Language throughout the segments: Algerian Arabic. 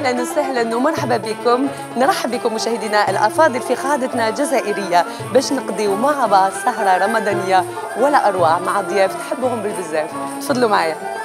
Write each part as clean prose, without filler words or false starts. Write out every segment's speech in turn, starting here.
اهلا وسهلا ومرحبا بكم. نرحب بكم مشاهدينا الافاضل في قاعدتنا الجزائريه باش نقضيو مع بعض سهره رمضانيه ولا اروع مع ضياف تحبهم بالبزاف. تفضلوا معايا.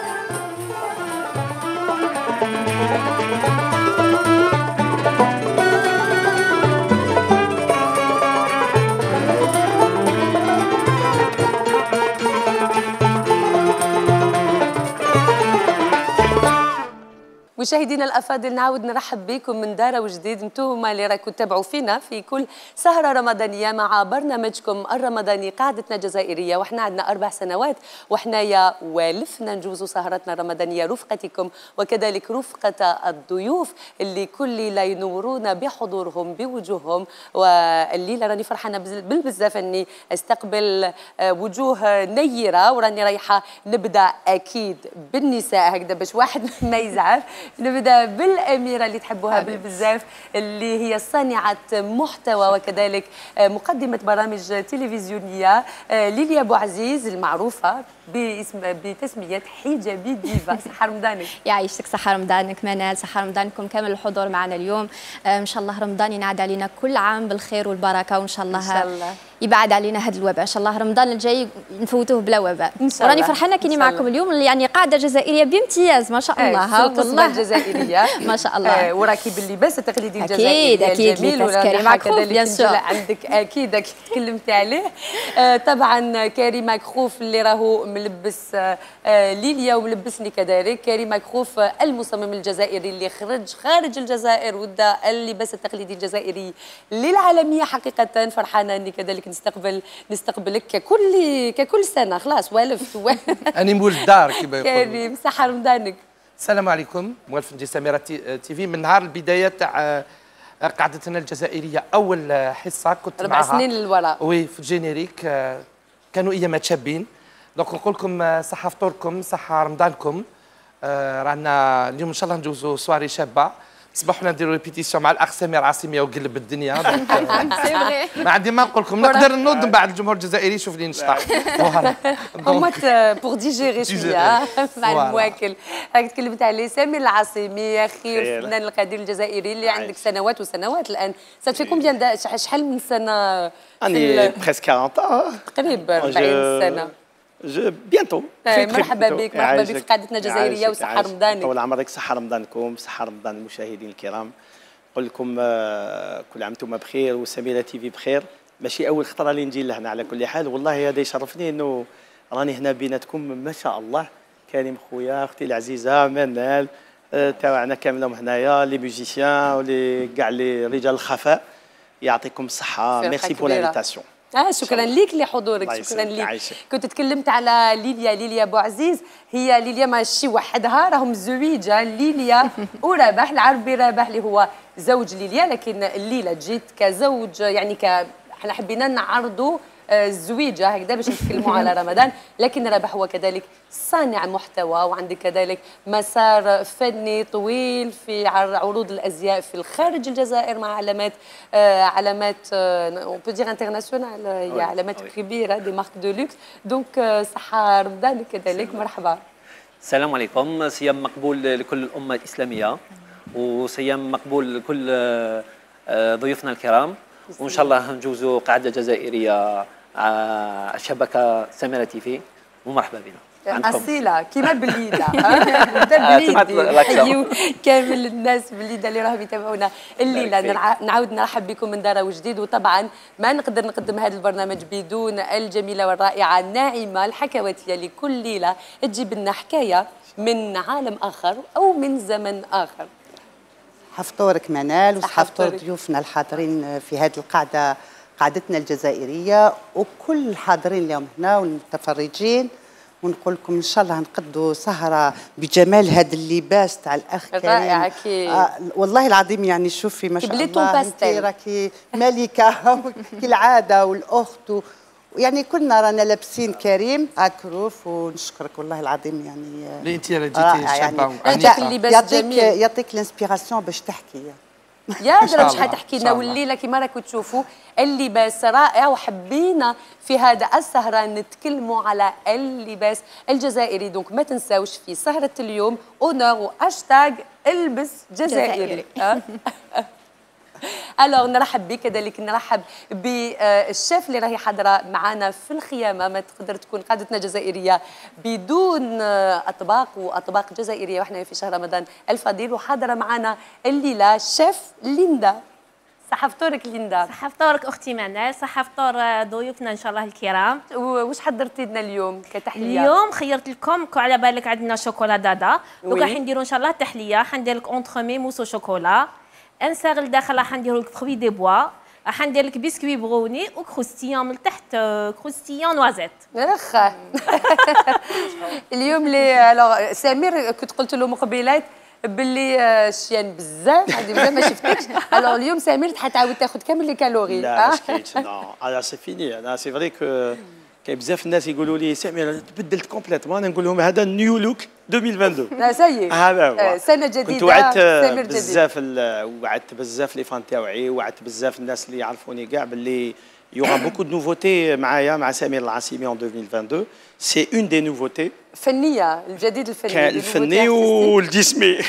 مشاهدينا الافاضل نعاود نرحب بكم من دار وجديد. انتم اللي راكم تتابعوا فينا في كل سهره رمضانيه مع برنامجكم الرمضاني قاعدتنا الجزائريه، وحنا عندنا 4 سنوات وحنايا والفنا نجوزوا سهرتنا الرمضانيه رفقتكم وكذلك رفقه الضيوف اللي كل ليله ينورونا بحضورهم بوجوههم. والليله راني فرحانه بالبزاف اني استقبل وجوه نيره، وراني رايحه نبدا اكيد بالنساء هكذا باش واحد ما يزعل. نبدا بالاميره اللي تحبوها بالبزاف، اللي هي صانعه محتوى وكذلك مقدمه برامج تلفزيونيه، ليليا بوعزيز المعروفه بتسميه حجابي ديفا. صحه رمضانك. يعيشك صحه رمضانك منال، صحه رمضانكم كامل الحضور معنا اليوم. ان شاء الله رمضان ينعاد علينا كل عام بالخير والبركه، وان شاء الله يبعد علينا هذا الوباء. ان شاء الله رمضان الجاي نفوتوه بلا وباء. وراني فرحانه كيني معكم اليوم، يعني قاعده جزائريه بامتياز ما شاء الله. والله الجزائريه ما شاء الله. وراكي باللباس التقليدي الجزائري اكيد الجميل، كريم مكخوف بيان سور عندك اكيد تكلمتي عليه. طبعا كريم مكخوف اللي راهو ملبس ليليا وملبسني كذلك. كريم مكخوف المصمم الجزائري اللي خارج الجزائر ودا اللباس التقليدي الجزائري للعالميه. حقيقه فرحانه اني كذلك نستقبلك ككل سنه. خلاص والفت اني مول الدار كيما يقولوا. كريم صحه رمضانك. السلام عليكم. موالف نجي سميره تي في. من نهار البدايه تاع قعدتنا الجزائريه اول حصه كنت 4 سنين للوراء. وي في الجينيريك كانوا ايامات شابين. دونك نقول لكم صحه فطوركم صحه رمضانكم. رانا اليوم ان شاء الله ندوزوا سواري شابه. صبحنا نديروا ريبيتيسيون مع الاخ سمير عاصميه وقلب الدنيا. ما عندي ما نقول لكم، نقدر نوض من بعد الجمهور الجزائري يشوف لي نشطح. همات بور ديجيري شويه مع المواكل. راك تكلمت عليه سمير العاصمي يا اخي، الفنان القدير الجزائري اللي عندك سنوات وسنوات الان. ساتفي كومبيان شحال من سنه؟ اني بريسك 40 تقريبا 40 سنه. بيانتو. مرحبا بك في قاعدتنا الجزائريه وصحه رمضانك. طول عمرك صحه رمضانكم، صحه رمضان المشاهدين الكرام. نقول لكم كل عام وانتم بخير وسميره تي في بخير. ماشي اول خطره اللي نجي لهنا على كل حال، والله هذا يشرفني انه راني هنا بيناتكم ما شاء الله. كريم خويا، اختي العزيزه منال تاعنا كاملهم هنايا، لي ميوزيسيان ولي كاع لي رجال الخفاء. يعطيكم الصحه. ميرسي بور لانفيتاسيون. شكرا ليك لحضورك. شكرا ليك. كنت تكلمت على ليليا بوعزيز. هي ليليا ماشي وحدها، راهم زويجه ليليا ورابح العربي. رابح اللي هو زوج ليليا، لكن الليله جيت كزوج، يعني احنا حبينا نعرضوا الزويجه هكذا باش نتكلموا على رمضان. لكن رابح هو كذلك صانع محتوى، وعندك كذلك مسار فني طويل في عروض الازياء في الخارج الجزائر مع علامات اون بو دير انترناسيونال، هي علامات كبيره دي مارك دو لوكس. دونك صحه رمضانك كذلك. مرحبا. السلام عليكم. صيام مقبول لكل الامه الاسلاميه، وصيام مقبول لكل ضيوفنا الكرام، وان شاء الله نجوزوا قاعده جزائريه شبكه سميره تي في. ومرحبا بنا. اصيله كيما بليده. نحييو كامل الناس بليده اللي راهم يتابعونا الليله. نعاود نرحب بكم من دار وجديد. وطبعا ما نقدر نقدم هذا البرنامج بدون الجميله والرائعه ناعمه الحكواتيه، لكل ليله تجيب لنا حكايه من عالم اخر او من زمن اخر. حفطورك منال وحفطور ضيوفنا الحاضرين في هذه القاعده، قاعدتنا الجزائريه، وكل الحاضرين اليوم هنا والمتفرجين. ونقول لكم ان شاء الله نقدوا سهره بجمال هذا اللباس تاع الاخ كريم. رائع اكيد. والله العظيم يعني شوفي ما شاء الله انت راكي ملكه كالعاده، والاخت يعني كلنا رانا لابسين كريم اكروف. ونشكرك والله العظيم يعني. لا انت جيتي شابه يعني اللباس جميل. يعطيك الانسبيراسيون باش تحكي. يا درا مش حتحكي لنا والليله كما راكم تشوفوا اللباس رائع، وحبينا في هذا السهره نتكلموا على اللباس الجزائري. دونك ما تنساوش في سهره اليوم اونور وهاشتاغ البس جزائري. الوغ نرحب بك، كذلك نرحب بالشيف اللي راهي حاضره معنا في الخيامه. ما تقدر تكون قادتنا جزائريه بدون اطباق جزائريه، واحنا في شهر رمضان الفضيل، وحاضره معنا الليله شيف ليندا. صحة فطورك ليندا. صحة فطورك اختي منال، صحة فطور ضيوفنا ان شاء الله الكرام. واش حضرتي لنا اليوم كتحليه؟ اليوم خيرت لكم على بالك عندنا شوكولا دادا، دوكا حنديروا ان شاء الله تحليه. حندير لك اونتخومي موسو شوكولا، انساغ لداخل حنديروا لك فروي دي بوا، حندير لك بسكوي بغوني وكروستيون من تحت كروستيون نوازيت. اخ اليوم لي الوغ سمير كنت قلت له مقبلات باللي شيان بزاف، عندي بزاف ما شفتكش. الوغ اليوم سمير حتعاود تاخذ كامل لي كالوري. لا ما كاينش نو انا سي فيني. انا سي فري كو كاين بزاف الناس يقولوا لي سمير تبدلت كومبليتمون. انا نقول لهم هذا نيو لوك 2022. لا سي هذا هو سنه جديده. كنت وعدت بزاف وعدت بزاف لي فان تاوعي، وعدت بزاف الناس اللي يعرفوني كاع باللي يوغا بوكو دو نوفوتي معايا مع سمير العاصمي en 2022. سي اون دي نوفوتي فنيه، الجديد الفني، الفني والجسمي.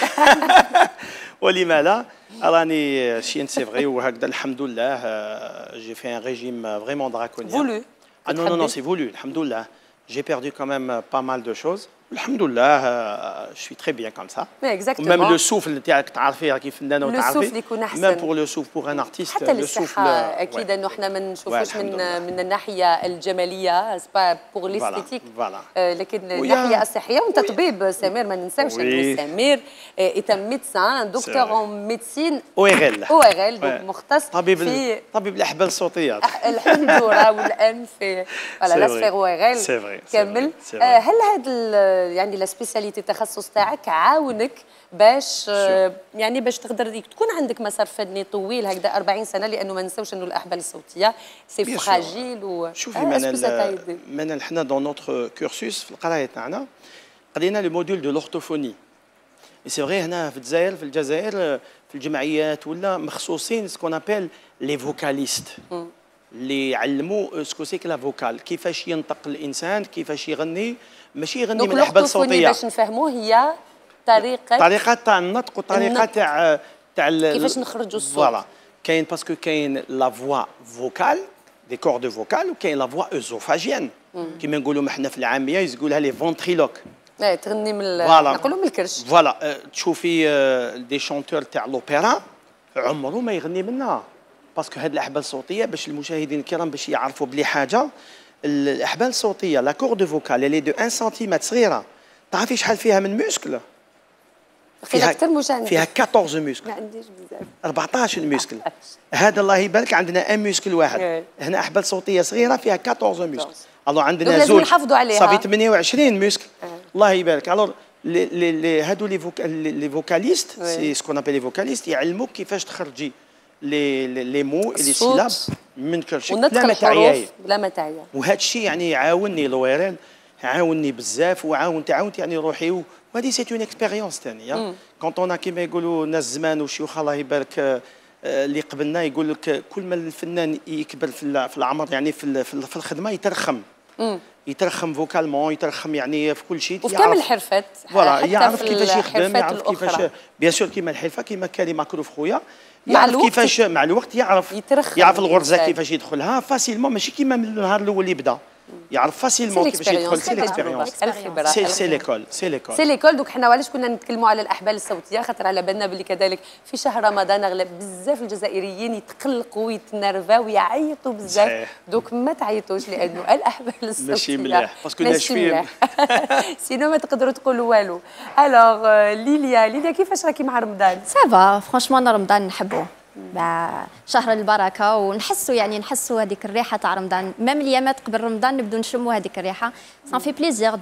ولما لا راني شين سي فري وهكذا الحمد لله. جي في ان ريجيم فريمون دراكونيان. فولو. Non, non, c'est voulu, alhamdoulilah. J'ai perdu quand même pas mal de choses. Alhamdoulilah, je suis très bien comme ça. Exactement. Même le souffle, تعرفي كيف فنانة وتعرفي. السوفل يكون احسن. Même pour le souffle, pour un artiste, حتى le souffle. للصحة أكيد إنه إحنا ما نشوفوش من الناحية الجمالية، سبا بور ليستيتيك، لكن الناحية الصحية. وأنت طبيب سمير، ما ننساوش إنه سمير إيتا ميدسان دكتور أون ميدسين ORL. دونك مختص في طبيب الأحبال الصوتية. الحنجرة والأنف، فوالا لا سفير ORL كامل. هل هذا يعني لا سبيسياليتي التخصص تاعك عاونك باش يعني باش تقدر تكون عندك مسار فني طويل هكذا 40 سنه؟ لانه ما ننساوش انه الاحبال الصوتيه سي فراجيل. شوفي منال حنا دون نوتر كورسوس في القرايه تاعنا قرينا لو موديول دو لورتوفوني. سي فري هنا في الجزائر في الجمعيات ولا مخصوصين سكون ابيل لي فوكاليست اللي يعلموا سكو سي لا فوكال، كيفاش ينطق الانسان، كيفاش يغني، ماشي يغني من الاحبال الصوتيه. باش نفهموه هي طريقه تاع النطق وطريقه تاع كيفاش نخرجوا الصوت. فوالا كاين باسكو كاين لا فوا فوكال دي كورد فوكال، وكاين لا فوا اوزوفاجيان كيما نقولوا احنا في العاميه يقولها لي فونتريلوك. تغني من نقولوا من الكرش. فوالا تشوفي دي شونتور تاع لوبيرا عمره ما يغني منها، باسكو هاد الاحبال الصوتيه باش المشاهدين الكرام باش يعرفوا بلي حاجه. الاحبال الصوتيه لا كورد فوكال اللي دو 1 سنتيمتر صغيره، تعرفي شحال فيها من موسكل؟ فيها 14 موسكل. ما عنديش بزاف. 14 موسكل. هذا الله يبارك عندنا ان موسكل واحد. هنا احبال صوتيه صغيره فيها 14 موسكل. الو عندنا زوج صافي 28 موسكل. الله يبارك. الو هادو لي فوكاليست سي سكون ابل لي فوكاليست يعلموك كيفاش تخرجي لي مو لي سيلاب من كرشك بلا ما تعياي. وهذا الشيء يعني يعاونني لويرال، عاونني بزاف وعاونت يعني روحي. وهذه سي اون اكسبيريونس ثانيه. كونت اون كيما يقولوا ناس زمان وشيوخ الله يبارك اللي قبلنا يقول لك كل ما الفنان يكبر في العمر يعني في الخدمه يترخم فوكالمون، يترخم يعني في كل شيء، وفي كامل الحرفات. فوالا يعرف كيفاش يخدم، يعرف كيفاش بيان سور كيما الحرفه كيما كريم ماكروف خويا يعرف كيفاش مع الوقت يعرف الغرزه كيفاش يدخلها فاسيلمون، ماشي كيما من النهار الاول اللي بدا يعرف فاسيلمون كيفاش يدخل. سي ليكسبيريونس، الخبره، سي ليكول. دوك حنا علاش كنا نتكلموا على الاحبال الصوتيه؟ خاطر على بالنا باللي كذلك في شهر رمضان اغلب بزاف الجزائريين يتقلقوا ويتنرفاو ويعيطوا بزاف. دوك ما تعيطوش لانه الاحبال الصوتيه ماشي مليح باسكو ناشفين سينو ما تقدروا تقولوا والو. الوغ ليليا كيفاش راكي مع رمضان؟ سافا فرانشمون رمضان نحبوه، شهر البركه ونحسوا يعني نحسوا هذيك الريحه تاع رمضان. ميم الايامات قبل رمضان نبدو نشموا هذيك الريحه. سان في بليزير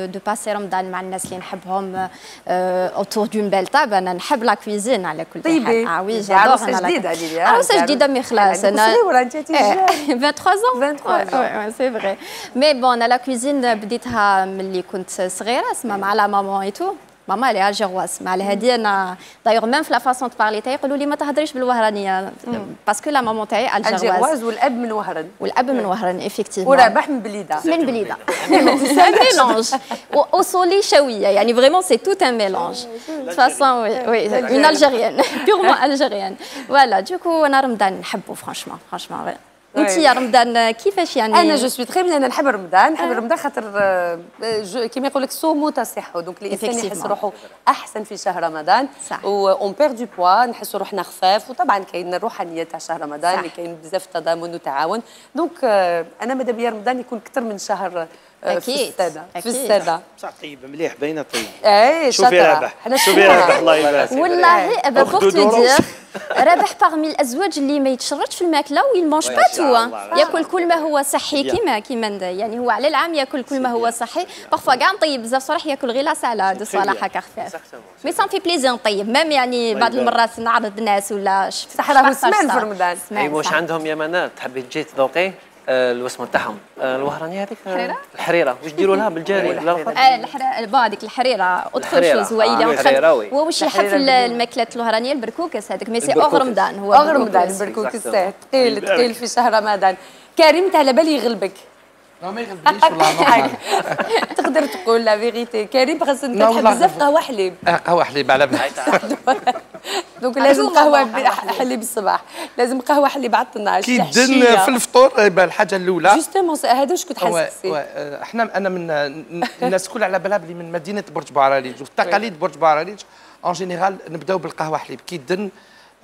دو باسي رمضان مع الناس اللي نحبهم اوتور دون بيل تاب. انا نحب لا كويزين على كل حال. وي عروسه جديده ليليا، عروسه جديده مي خلاص انا 23 ans سي فري. مي بون انا لا كويزين بديتها ملي كنت صغيره اسمها مع لا مامون اي تو. ماما لي الجيرواز مع هذه انا دايوغ ميم في لا فاسون دو بارلي تاعي يقولوا لي ما تهضريش بالوهرانيه باسكو لا مامون تاعي الجيرواز والاب من وهران. والاب من وهران افيكتيفمون. ورابح من بليده. من بليده. ميلونج وصولي شويه يعني فريمون سي توت ان ميلونج. دو فاسون وي اون الجيريان بيغمون الجيريان. فوالا دوكو انا رمضان نحبو فرانشمون انت يا رمضان كيفاش يعني؟ انا جو سوي تري بيان، انا نحب رمضان، نحب رمضان خاطر كيما يقول لك صوموا تصحوا، دونك الانسان يحس روحه احسن في شهر رمضان و اون بير دو بوا، نحسوا روحنا خفاف، وطبعا كاين الروحانيه تاع شهر رمضان اللي كاين بزاف تضامن وتعاون، دونك انا ماذا بيا رمضان يكون اكثر من شهر أكيد. في السنه. بصح طيب مليح باينه طيب. اي شوفي رابح، شوفي رابح الله يبارك. والله بور تو دير رابح باغمي الازواج اللي ما يتشردش في الماكله ويلمونج با تو، ياكل كل ما هو صحي كيما يعني هو على العام ياكل كل ما هو صحي، بارفوا كاع نطيب بزاف صراحه ياكل غير لا سالاد صراحه هكا خفاف. مي سان في بليزير نطيب ميم يعني بعض المرات نعرض الناس ولا صح راهو سمان في رمضان. اي واش عندهم يا منال تحبي تجي تذوقي الوسمه تاعهم الوهرانيه هذيك الحريره واش ديروا لها بالجاري لا هذيك الحريره ادخل شوز هو واش يحب في الماكلات الوهرانيه البركوكس هذاك مي سي اوغ رمضان هو اوغ رمضان البركوكس ثقيل في شهر رمضان. كريم تاع على بالي يغلبك. لا ما يغلبنيش والله. تقدر تقول لا فيغيتي كريم خاص انت تحب بزاف قهوه حليب. قهوه حليب على بالي. دونك لازم قهوه حليب الصباح، لازم قهوه حليب على 12 كي دن في الفطور الحاجه الاولى جوستومون هذا واش كنت حاسس فيه. انا من الناس الكل على بالها بلي من مدينه برج بوعراليج والتقاليد برج بوعراليج اون جينيرال نبداو بالقهوه حليب كي دن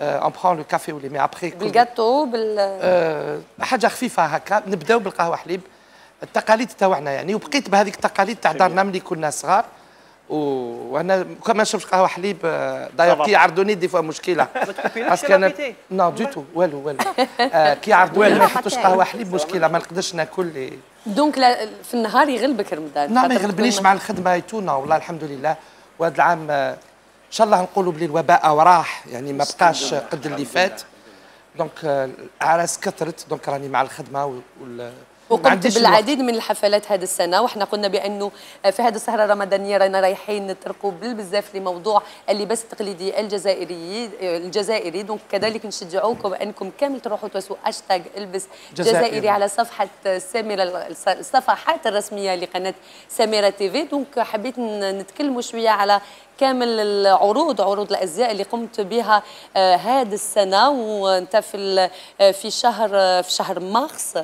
اون برون لو كافي ولي مي ابخي بالجاتو حاجه خفيفه هكا نبداو بالقهوه حليب التقاليد تاعنا يعني. وبقيت بهذيك التقاليد تاع دارنا ملي كنا صغار وانا كما نشربش قهوه حليب دايوغ كي يعرضوني دي فوا مشكله باسكو انا نو دو تو والو كي يعرضوني ما يحطوش قهوه حليب مشكله ما نقدرش ناكل. دونك في النهار يغلبك رمضان؟ لا ما يغلبنيش مع الخدمه يتونا والله الحمد لله. وهذا العام ان شاء الله نقولوا بلي الوباء وراح يعني ما بقاش قد اللي فات، دونك الاعراس كثرت دونك راني مع الخدمه وقمت بالعديد من الحفلات هذه السنه، وحنا قلنا بانه في هذه السهره الرمضانيه رانا رايحين نطرقوا بزاف لموضوع اللباس التقليدي الجزائري دونك كذلك نشجعوكم انكم كامل تروحوا توسوا هاشتاج البس جزائري على صفحه سميره، الصفحات الرسميه لقناه سميره تيفي. دونك حبيت نتكلموا شويه على كامل عروض الازياء اللي قمت بها هذه السنه، وانت في شهر مارس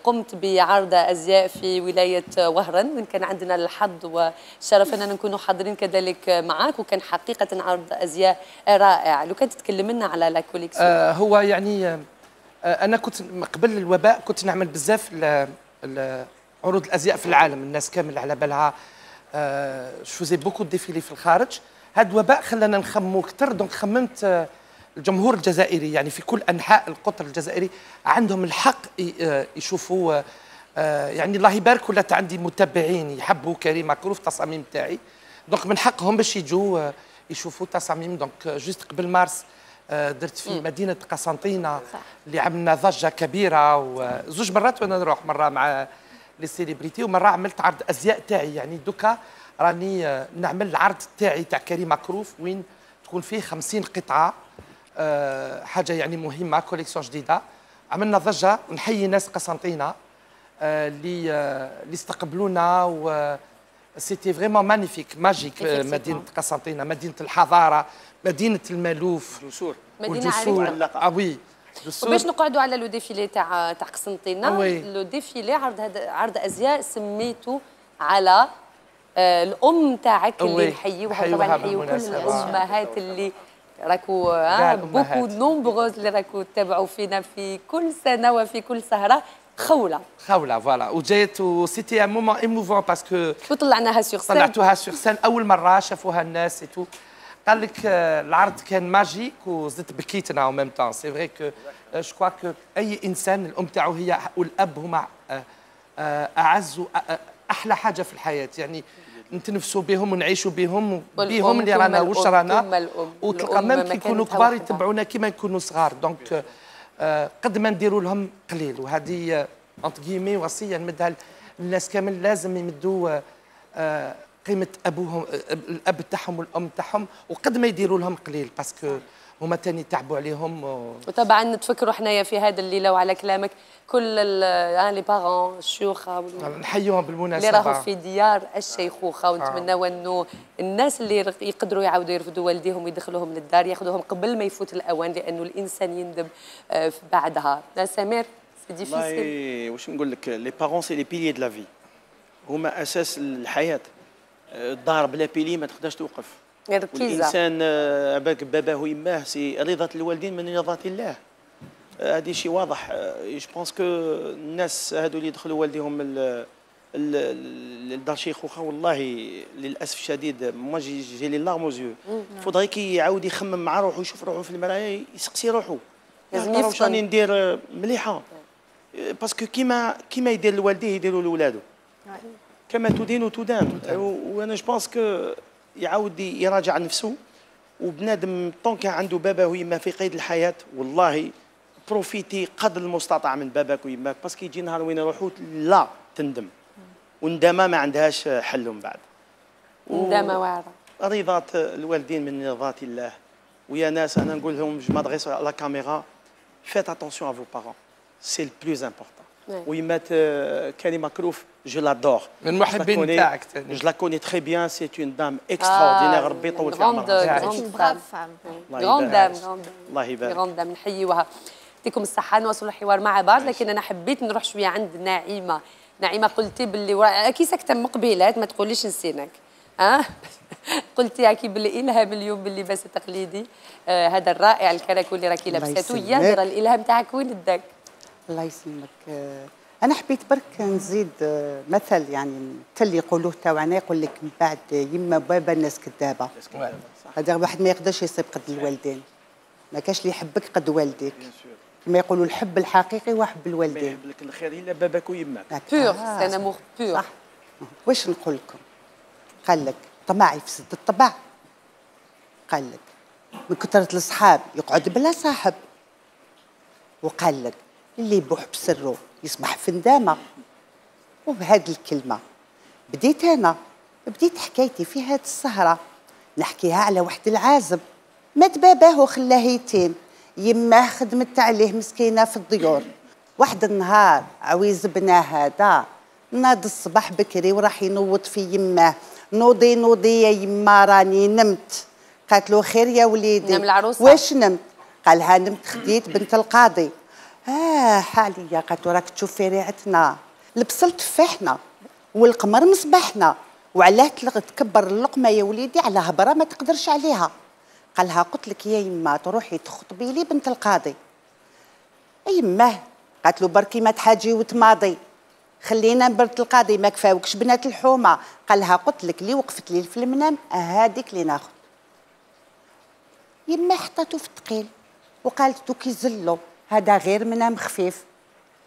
قمت بعرض ازياء في ولايه وهران، وين كان عندنا الحظ والشرف اننا نكونوا حاضرين كذلك معك، وكان حقيقه عرض ازياء رائع. لو كنت تتكلم لنا على لا كوليكسيون. هو يعني انا كنت قبل الوباء كنت نعمل بزاف عروض الازياء في العالم، الناس كامل على بالها فوزي بوكو ديفيلي في الخارج. هذا الوباء خلانا نخمموا اكثر، دونك خممت الجمهور الجزائري يعني في كل انحاء القطر الجزائري عندهم الحق يشوفوا يعني الله يبارك ولات عندي متابعين يحبوا كريم مكروف التصاميم تاعي، دونك من حقهم باش يجوا يشوفوا تصاميم. دونك جوست قبل مارس درت في مدينه قسنطينه اللي عملنا ضجه كبيره، وزوج مرات وانا نروح، مره مع لي سيليبريتي ومره عملت عرض ازياء تاعي يعني. دوكا راني نعمل العرض تاعي تاع كريم مكروف وين تكون فيه 50 قطعه، حاجه يعني مهمه، كوليكسيون جديده. عملنا ضجه ونحيي ناس قسنطينه اللي استقبلونا، و سيتي فريمون مانيفيك ماجيك. مدينه قسنطينه مدينه الحضاره، مدينه المالوف، مدينه عريقه. وي وباش نقعدوا على لو ديفيلي تاع قسنطينه، لو ديفيلي عرض ازياء سميته على الام تاعك اللي نحيوها طبعا، نحيو كل الامهات اللي راكو بوكو نومبروز اللي راكو تتابعوا فينا في كل سنه وفي كل سهره. خوله فوالا وجات وسيتي ان مومون ايموفون باسكو وطلعناها سور سين، طلعتوها سور سين اول مره شافوها الناس تو. قال لك العرض كان ماجيك وزدت بكيتنا او ميم طون. سي فري كو جو كوا كو اي انسان الام تاعو هي والاب هما اعز احلى حاجه في الحياه يعني، نتنفسوا بهم ونعيشوا بهم اللي رانا واش رانا، وتلقى ميم كي يكونوا كبار يتبعونا كيما نكونوا صغار. دونك قد ما نديروا لهم قليل، وهذه انت كيمي وصيه نمدها للناس كامل، لازم يمدوا قيمه ابوهم الاب تاعهم والام تاعهم، وقد ما يديروا لهم قليل باسكو هما تاني تعبوا عليهم. وطبعا نتفكروا حنايا في هذا الليله وعلى كلامك كل لي بارون الشيوخه نحيوهم بالمناسبه اللي راهو في ديار الشيخوخه، ونتمناو انه الناس اللي يقدروا يعاودوا يرفدوا والديهم ويدخلوهم للدار ياخذوهم قبل ما يفوت الاوان، لانه الانسان يندم بعدها. سمير سي ديفيسيل. والله واش نقول لك، لي بارون سي لي بيلي دو لا في، هما اساس الحياه. الدار بلا بيلي ما تقدرش توقف. الانسان عباك باباه ويماه سي رضا الوالدين من رضا الله. هذه شيء واضح. جو بونس كو الناس هذو اللي يدخلوا والديهم لدار شيخوخه والله للاسف الشديد ما جي لي لارم اوزيو. فودري كي يعاود يخمم مع روحه ويشوف روحه في المرايه يسقسي روحه لازم يفطن. واش راني ندير مليحه، باسكو كيما يدير لوالديه يديروا لولادو، كما تدين تدان. وانا جو بونس كو يعاود يراجع نفسه، وبنادم طون كان عنده باباه ويما في قيد الحياه والله بروفيتي قدر المستطاع من باباك ويماك، باسكو يجي نهار وين يروحوا لا تندم، والندامه ما عندهاش حل من بعد. ندامه واعره. رضا الوالدين من رضا الله. ويا ناس انا نقول لهم جو مادريس على لا كاميرا، فيت اتونسيون ا فو بارون سي لو بلوز امبورطون. ويمات كريمه كروف جو لادور، من المحبين تاعك. جو لا كوني تري بيان، سي اون دام اكستراوردينير. ربي يطول في عمرها. غراند دام. الله يبارك. غراند دام نحيوها. يعطيكم الصحة. نواصلوا الحوار مع بعض، لكن أنا حبيت نروح شوية عند نعيمة. نعيمة قلتي باللي أكيد ساكتة مقبلات، ما تقوليش نسيناك. قلتي أكيد باللي إلهام اليوم باللباس التقليدي هذا الرائع الكراكو اللي راكي لابساتو. يا الإلهام تاعك وين داك؟ الله يسلمك. أنا حبيت برك نزيد مثل، يعني اللي يقولوه تاعنا، يقول لك من بعد يما بابا الناس كذابة. هذا واحد ما يقدرش يصيب قد الوالدين، ما كاش اللي يحبك قد والديك. كما يقولوا الحب الحقيقي هو حب الوالدين. ما يحب لك الخير الا باباك ويماك. بور سي ان امور بور. صح. واش نقول لكم؟ قال لك طمع يفسد الطبع. قال لك من كثرة الأصحاب يقعد بلا صاحب. وقال لك اللي يبوح بسره يصبح في ندامة. وبهذه الكلمة بديت حكايتي في هذه السهرة، نحكيها على واحد العازب مات باباه وخلاه يتيم، يماه خدمت عليه مسكينه في الديور. واحد النهار عويز بنا هذا ناض الصباح بكري وراح ينوض في يماه، نوضي يا يما راني نمت. قالت له خير يا وليدي. نم العروسه. واش نمت؟ قالها نمت خديت بنت القاضي. حاليا. قالت له راك تشوف في ريعتنا، البصل تفاحنا والقمر مصباحنا، وعلاه تكبر اللقمه يا وليدي على هبره ما تقدرش عليها. قالها قلت لك يا يما تروحي تخطبي لي بنت القاضي. يماه. قالت له بركي ما تحاجي وتماضي، خلينا بنت القاضي ما كفاوكش بنات الحومه. قالها قلت لك اللي وقفت لي في المنام هذيك اللي ناخذ. يما حطاتو في الثقيل وقالت دوك يزلو هذا غير منام خفيف.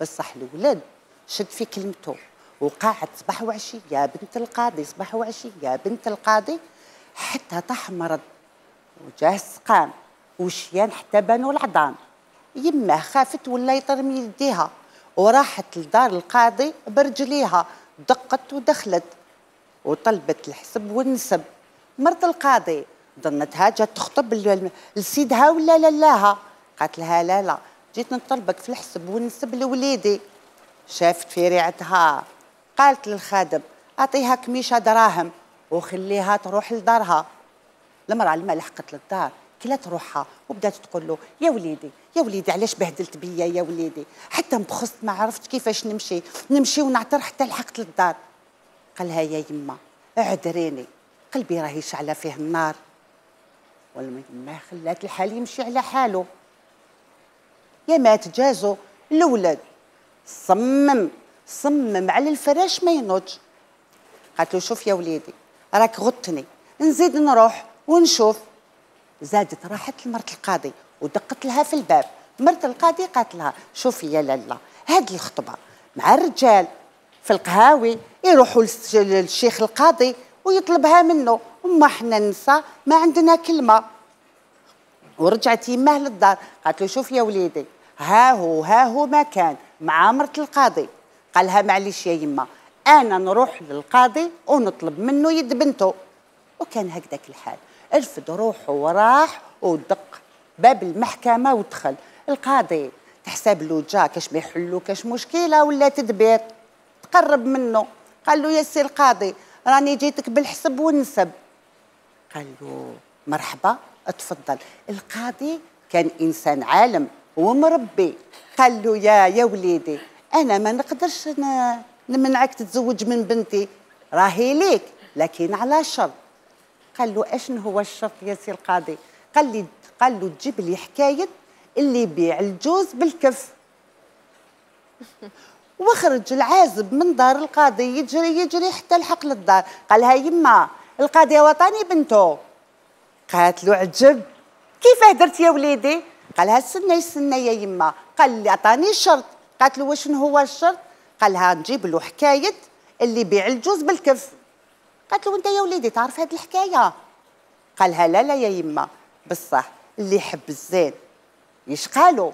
بصح الولد شد في كلمته وقاعد صباح وعشيه بنت القاضي، صباح وعشيه بنت القاضي، حتى طاح مرض وجاه السقام وشيان حتى بانوا العظام. يماه خافت ولا يطرمي يديها وراحت لدار القاضي برجليها، دقت ودخلت وطلبت الحسب والنسب. مرت القاضي ظنتها جات تخطب لسيدها ولا لاها. قالت لها لا جيت نطلبك في الحسب والنسب لوليدي. شافت في ريعتها قالت للخادم اعطيها كميشه دراهم وخليها تروح لدارها. المرأة لما لحقت للدار كلات روحها وبدات تقول له يا وليدي علاش بهدلت بيا يا وليدي، حتى مبخست ما عرفت كيفاش نمشي ونعتر حتى لحقت للدار. قالها يا يما اعذريني قلبي راهي شعله فيه النار. ولا ما خلات الحال يمشي على حاله. يا ما تجازو الولد صمم على الفراش ما ينوضش. قالت له شوف يا وليدي راك غطني نزيد نروح ونشوف. زادت راحت لمرت القاضي ودقت لها في الباب. مرت القاضي قالت لها شوفي يا لاله هذه الخطبه مع الرجال في القهاوي يروحوا للشيخ القاضي ويطلبها منه، وما احنا نساء ما عندنا كلمه. ورجعت يماه للدار قالت له شوف يا وليدي ها هو ما كان مع مرت القاضي. قالها معليش يا يما انا نروح للقاضي ونطلب منه يد بنته. وكان هكذاك الحال، رفد روحه وراح ودق باب المحكمه ودخل. القاضي تحسب له جا كاش ما يحلو كاش مشكله ولا تدبير، تقرب منه قال له يا سي القاضي راني جيتك بالحسب والنسب. قال له مرحبا اتفضل. القاضي كان انسان عالم ومربي، قال له يا وليدي انا ما نقدرش نمنعك تتزوج من بنتي، راهي ليك لكن على شرط. قال له اشنو هو الشرط يا سي القاضي؟ قال له تجيب لي حكايه اللي يبيع الجوز بالكف. وخرج العازب من دار القاضي يجري حتى لحق للدار. قالها يما القاضي وطاني بنته. قالت له عجب، كيف درت يا وليدي؟ قالها استنى يا يما. قال لي عطاني شرط. قالت له وشنو هو الشرط؟ قالها نجيب له حكايه اللي يبيع الجوز بالكف. قالت له انت يا وليدي تعرف هذه الحكايه؟ قالها لا يا يما، بصح اللي يحب الزين يشقالو.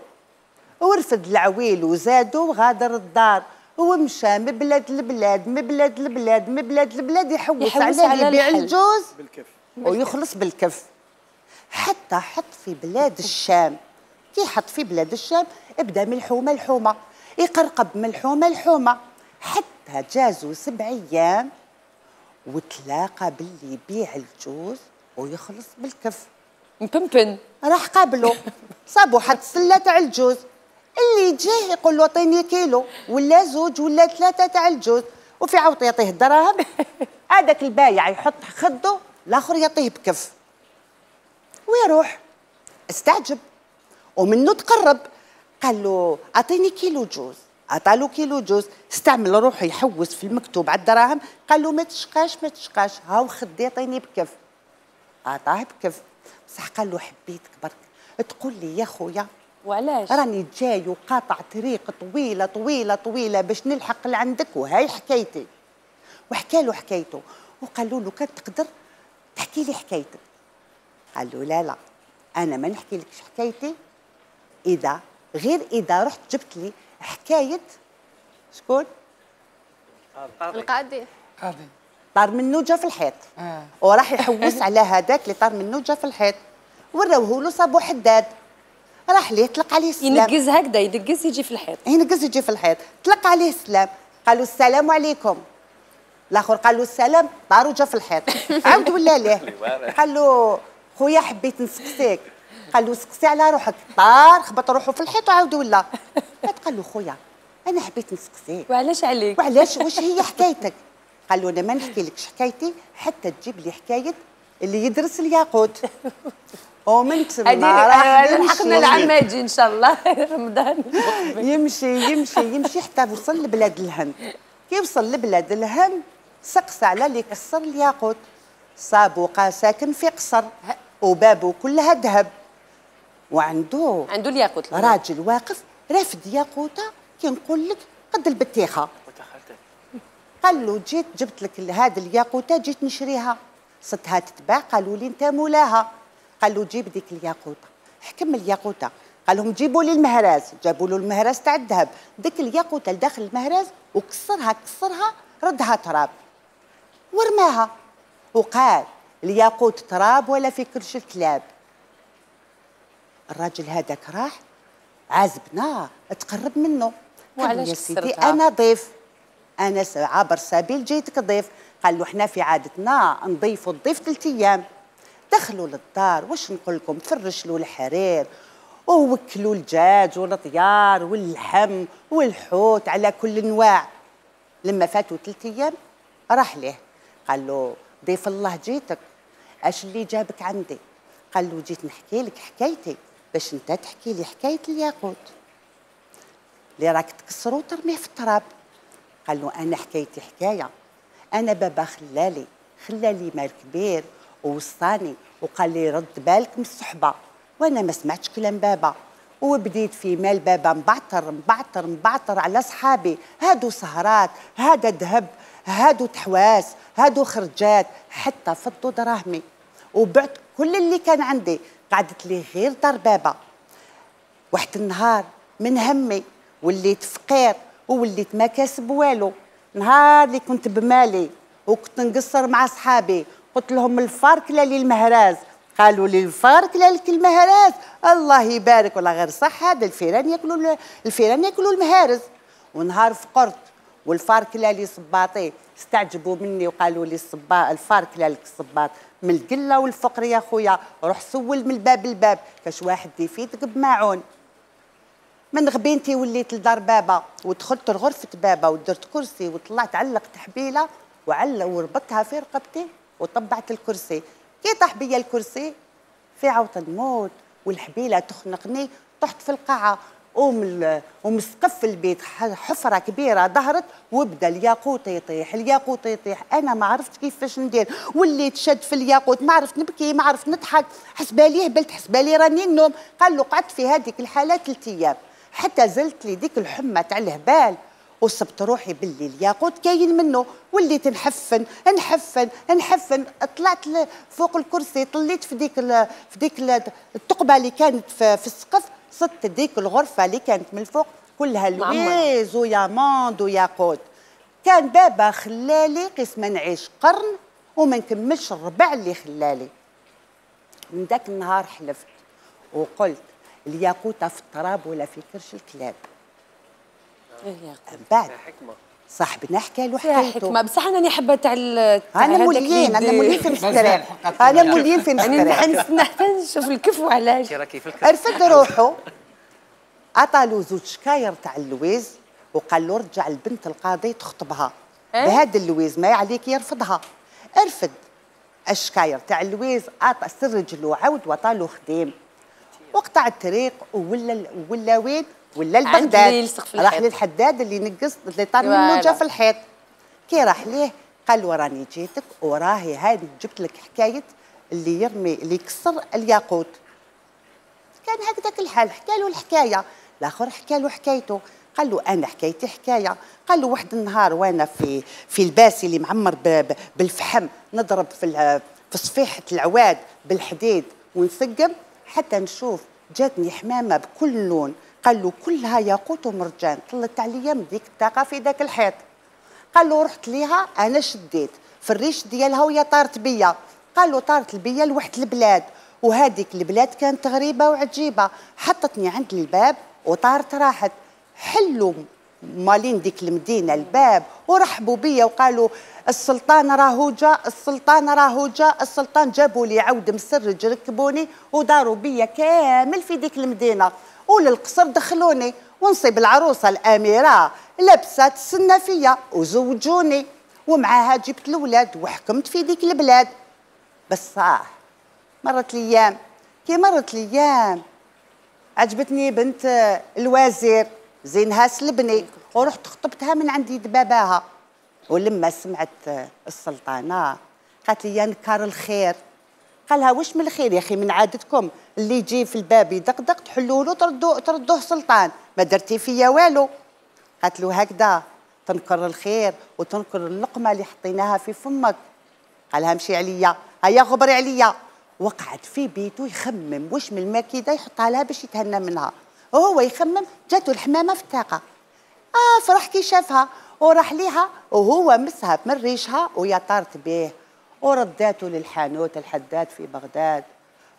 ورفد العويل وزادو وغادر الدار ومشى من بلاد لبلاد يحوس على اللي يبيع الجوز بالكف ويخلص بالكف. حتى حط في بلاد الشام. كي حط في بلاد الشام ابدا ملحومه يقرقب ملحومه حتى جازوا 7 أيام وتلاقى باللي يبيع الجوز ويخلص بالكف. مبنبن راح قابله صابوا حد سله تاع الجوز. اللي جاه يقول له اعطيني كيلو ولا 2 ولا 3 تاع الجوز، وفي عوض يعطيه الدراهم. هذاك البايع يحط خده، الاخر يعطيه بكف ويروح. استعجب ومنه تقرب، قال له اعطيني كيلو جوز. عطالو كيلو جوز، استعمل روحه يحوس في المكتوب على الدراهم. قال له ما تشقاش هاو خدي اعطيني بكف. عطاه بكف، بصح قال له حبيتك برك تقول لي يا خويا وعلاش راني جاي وقاطع طريق طويله باش نلحق لعندك وهاي حكايتي. وحكى له حكايته وقالوا له كان تقدر تحكي لي حكايتك. قال له لا انا ما نحكي لكش حكايتي إذا رحت جبت لي حكايه شكون؟ القاضي طار منه جا في الحيط. وراح يحوس على هذاك اللي طار منه جا في الحيط. وراوه له صابو حداد، راح ليه طلق عليه السلام. ينقز هكذا يدقز يجي في الحيط. يجي في الحيط، طلق عليه السلام. قالوا السلام عليكم. الاخر قال له السلام، طار وجا في الحيط. عاود ولا ليه؟ قال له خويا حبيت نسقسيك. قال له سقسي على روحك. طار خبط روحه في الحيط وعاود ولا. قال له خويا انا حبيت نسقسيك. وعلاش عليك؟ وعلاش واش هي حكايتك؟ قال له انا ما نحكي لكش حكايتي حتى تجيب لي حكايه اللي يدرس الياقوت. ومن تما راح لحقنا العام يجي ان شاء الله رمضان. يمشي حتى وصل لبلاد الهند. كي وصل لبلاد الهند سقس على اللي كسر الياقوت. صابو ساكن في قصر وبابه كلها ذهب، وعنده الياقوت. راجل واقف رافد ياقوته كي نقول لك قد البتيخه. قال له جيت جبت لك هذه الياقوته جيت نشريها، صدها تتباع. قالوا لي انت مولاها. قال له جيب ديك الياقوته. حكم الياقوته، قال لهم جيبوا لي المهراز. جابوا له المهراز تاع الذهب. ديك الياقوته لداخل المهراز وكسرها ردها تراب ورماها. وقال الياقوت تراب ولا في كرش الكلاب. الراجل هذاك راح عازبنا تقرب منه. قال له يا سيدي انا ضيف، انا عابر سبيل جيتك ضيف. قال له احنا في عادتنا نضيفوا الضيف 3 أيام. دخلوا للدار واش نقول لكم، فرش له الحرير ووكلوا الدجاج والطيار واللحم والحوت على كل انواع. لما فاتوا 3 أيام راح ليه قال له ضيف الله جيتك، اش اللي جابك عندي؟ قال له جيت نحكي لك حكايتي باش انت تحكي لي حكايه الياقوت اللي راك تكسرو وترميه في التراب. قال له انا حكايتي حكايه، انا بابا خلالي مال كبير ووصاني وقال لي رد بالك من الصحبه، وانا ما سمعتش كلام بابا وبديت في مال بابا مبعتر على صحابي. هادو سهرات، هذا ذهب، هادو تحواس، هادو خرجات، حتى فضوا دراهمي وبعت كل اللي كان عندي. قعدت لي غير دار بابا. واحد النهار من همي وليت فقير ووليت ما كاسب والو. نهار اللي كنت بمالي وكنت نقصر مع صحابي قلت لهم الفارك لا لي المهراز، قالوا لي الفارك لا لك المهراز. الله يبارك والله غير صح، هذا الفيران ياكلوا المهارز. ونهار فقرت والفارك لا لي صباطي استعجبوا مني وقالوا لي الفارك لا لك الصباط من القله والفقر يا خويا. روح سول من الباب للباب كاش واحد يفيدك بماعون. من غبينتي وليت لدار بابا ودخلت لغرفه بابا ودرت كرسي وطلعت علقت حبيله وربطتها في رقبتي وطبعت الكرسي. كي طاح بيا الكرسي في عوط نموت والحبيله تخنقني. طحت في القاعه ومن سقف البيت حفره كبيره ظهرت وبدا الياقوت يطيح الياقوت يطيح. انا ما عرفت كيفاش ندير، وليت شد في الياقوت، ما عرفت نبكي ما عرفت نضحك، حسبالي هبلت حسبالي راني النوم. قال له قعدت في هذيك الحاله 3 ايام حتى زلت لي ديك الحمى تاع الهبال وصبت روحي باللي الياقوت كاين منه. وليت نحفن نحفن نحفن. طلعت فوق الكرسي طليت في ديك الثقبه اللي كانت في السقف. صدت ديك الغرفه اللي كانت من الفوق كلها لويز وياموند وياقوت. كان بابا خلالي قسم نعيش قرن وما نكملش الربع اللي خلالي. من ذاك النهار حلفت وقلت الياقوتة في التراب ولا في كرش الكلاب. بعد صاحبنا حكى له حكايته. حكمه بصح انا حابه تاع انا موليين في الفكرة. انا موليين في الفكرة. نستنى حتى نشوف الكف وعلاش. رفد روحه عطالو 2 شكاير تاع اللويز وقال له رجع البنت القاضي تخطبها بهذا اللويز ما عليك يرفضها. رفد الشكاير تاع اللويز عطى سرج له عود وعطالو خديم وقطع الطريق ولا وين ولا لبغداد. راح للحداد اللي نقص اللي طار منه جا في الحيط. كي راح ليه قال له راني جيتك وراهي هذه جبت لك حكايه اللي يرمي اللي يكسر الياقوت. كان هكذاك الحال حكى له الحكايه. الاخر حكى له حكايته قال له انا حكايتي حكايه. قال له واحد النهار وانا في الباسي اللي معمر بالفحم نضرب في صفيحه العواد بالحديد ونسقم حتى نشوف جاتني حمامه بكل لون. قال له كلها ياقوت ومرجان. طلت عليا من ديك الطاقه في ذاك الحيط. قال له رحت ليها انا شديت في الريش ديالها وهي طارت بيا. قال له طارت بيا لواحد البلاد وهذيك البلاد كانت غريبه وعجيبه. حطتني عند الباب وطارت راحت. حلوا مالين ديك المدينه الباب ورحبوا بيا وقالوا السلطان راهو جا السلطان راهو جا. السلطان جابوا لي عود مسرج ركبوني وداروا بيا كامل في ديك المدينه وللقصر دخلوني ونصيب العروسه الاميره لبسات تسنى فيا وزوجوني ومعاها جبت الاولاد وحكمت في ديك البلاد. بس صح مرت الايام. كي مرت الايام عجبتني بنت الوزير زينها سلبني ورحت خطبتها من عند يد باباها. ولما سمعت السلطانه قالت لي يا نكار الخير. قالها واش من الخير يا اخي من عادتكم اللي يجي في الباب يدقدق تحلوا له تردوه سلطان ما درتي فيا والو. قالت له هكذا تنكر الخير وتنكر اللقمه اللي حطيناها في فمك. قالها امشي عليا هيا غبري عليا. وقعد في بيته يخمم واش من الماكيده يحطها لها باش يتهنى منها وهو يخمم. جاتو الحمامه في الطاقه فرح كي شافها وراح ليها وهو مسها من ريشها ويا طارت به ورداته للحانوت الحداد في بغداد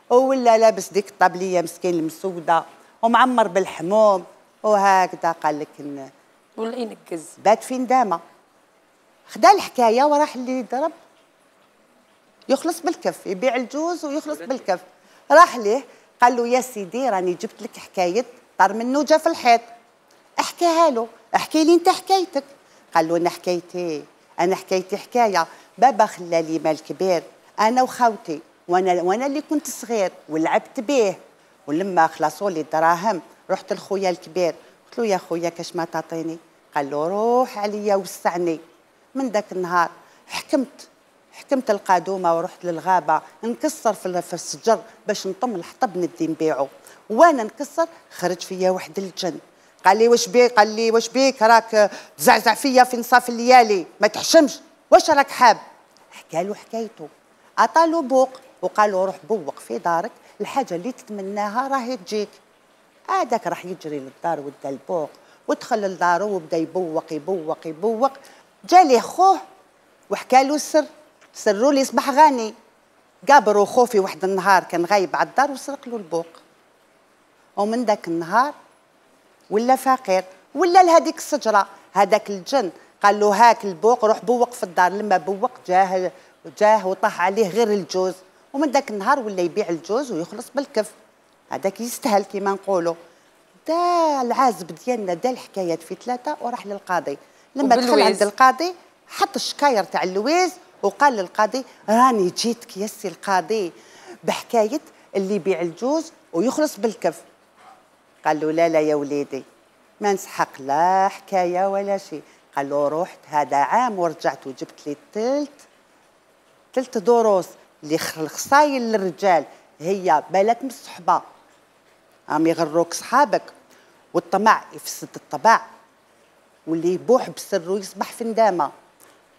ولا لابس ديك الطبليه مسكين المسوده ومعمر بالحموم وهكذا. قال لك ولا ينكز بات في ندامه. خدا الحكايه وراح اللي ضرب يخلص بالكف يبيع الجوز ويخلص بالكف. راح ليه قال له يا سيدي راني جبت لك حكايه طار منه جا في الحيط. احكيها له. احكي لي انت حكايتك. قال له انا حكايتي حكايه. بابا خلالي مال كبير انا وخوتي وانا اللي كنت صغير ولعبت به ولما خلصوا لي الدراهم رحت لخويا الكبير قلت له يا خويا كاش ما تعطيني. قال له روح عليا وسعني. من ذاك النهار حكمت القادومه ورحت للغابه نكسر في الشجر باش نطم الحطب ندي نبيعو. وانا نكسر خرج فيا واحد الجن. قال لي واش بيك راك تزعزع فيا في نصاف الليالي ما تحشمش واش راك حاب. حكى له حكايته عطالو بوق وقال له روح بوق في دارك الحاجه اللي تتمناها راهي تجيك. هذاك راح يجري للدار ودا البوق ودخل لدارو وبدا يبوق جا ليه خوه وحكى له سروا لي يصبح غني. قابروا خوه في واحد النهار كان غايب على الدار وسرق له البوق، ومن ذاك النهار ولا فقير، ولا لهذيك الشجره. هذاك الجن قال له هاك البوق روح بوق في الدار. لما بوق جاه وطاح عليه غير الجوز، ومن ذاك النهار ولا يبيع الجوز ويخلص بالكف. هذاك يستاهل كيما نقولوا. دا العازب ديالنا دا الحكايات في 3 وراح للقاضي. لما دخل عند القاضي حط الشكاير تاع اللويز وقال للقاضي راني جيتك يا سي القاضي بحكايه اللي يبيع الجوز ويخلص بالكف. قال له لا يا وليدي ما نسحق لا حكايه ولا شيء. قال له رحت هذا عام ورجعت وجبت لي ثلث دروس اللي الخصايل للرجال هي بالك من الصحبه عم يغروك صحابك، والطمع يفسد الطبع، واللي يبوح بسر ويصبح في ندامه.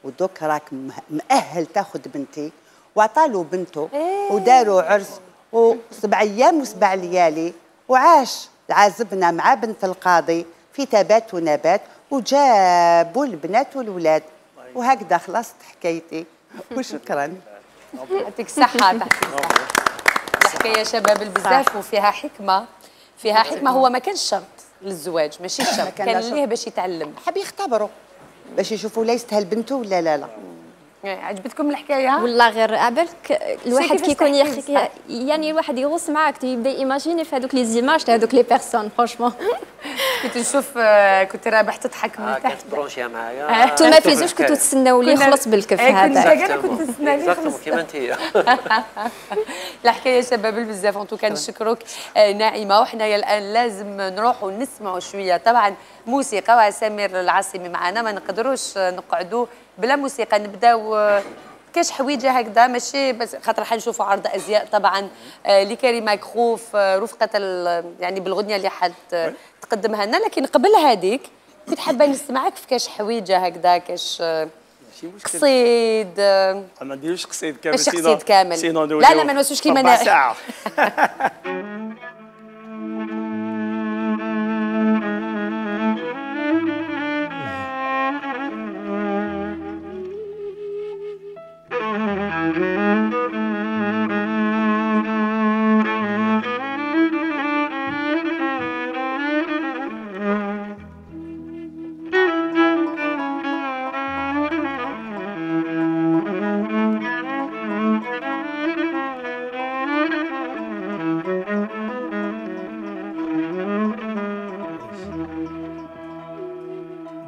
ودوك راك مؤهل تاخذ بنتي. وعطالو بنته وداروا عرس و7 أيام و7 ليالي، وعاش عازبنا مع بنت القاضي في تبات ونبات، وجابوا البنات والولاد. وهكذا خلصت حكايتي وشكرا. يعطيك الصحة. الحكاية شباب بزاف وفيها حكمة، فيها حكمة. هو ما كانش شرط للزواج، ماشي شرط، كان ليه باش يتعلم، حاب يختبروا باش يشوفوا لا يستاهل بنته ولا لا. عجبتكم الحكايه؟ والله غير عبالك الواحد كيكون يحكي يعني الواحد يغوص معاك يبدا ايماجيني في هذوك لي زيماج تاع هذوك لي بيرسون. فرونشمون كنت نشوف كنت رابح تضحك من تحت. كنت برونشيا معايا. انتوما في زوج كنتوا تسناو لي يخلص بالكف هذا. انا كنت نستنى لي يخلص كيما انت. الحكايه شباب بزاف. انتو كنشكروك ناعمه. وحنايا الان لازم نروحوا نسمعوا شويه طبعا موسيقى، وسمير العاصمي معنا. ما نقدروش نقعدوا بلا موسيقى. نبداو كاش حويجه هكذا ماشي بس خاطر حنشوفوا عرض ازياء طبعا لكريمه كخوف رفقه يعني بالغنيه اللي حد تقدمها لنا. لكن قبل هذيك كنت حابه نسمعك في كاش حويجه هكذا، كاش قصيد. ما نديروش قصيد كامل. ماشي قصيد كامل. لا ما نوسوش كيما انا.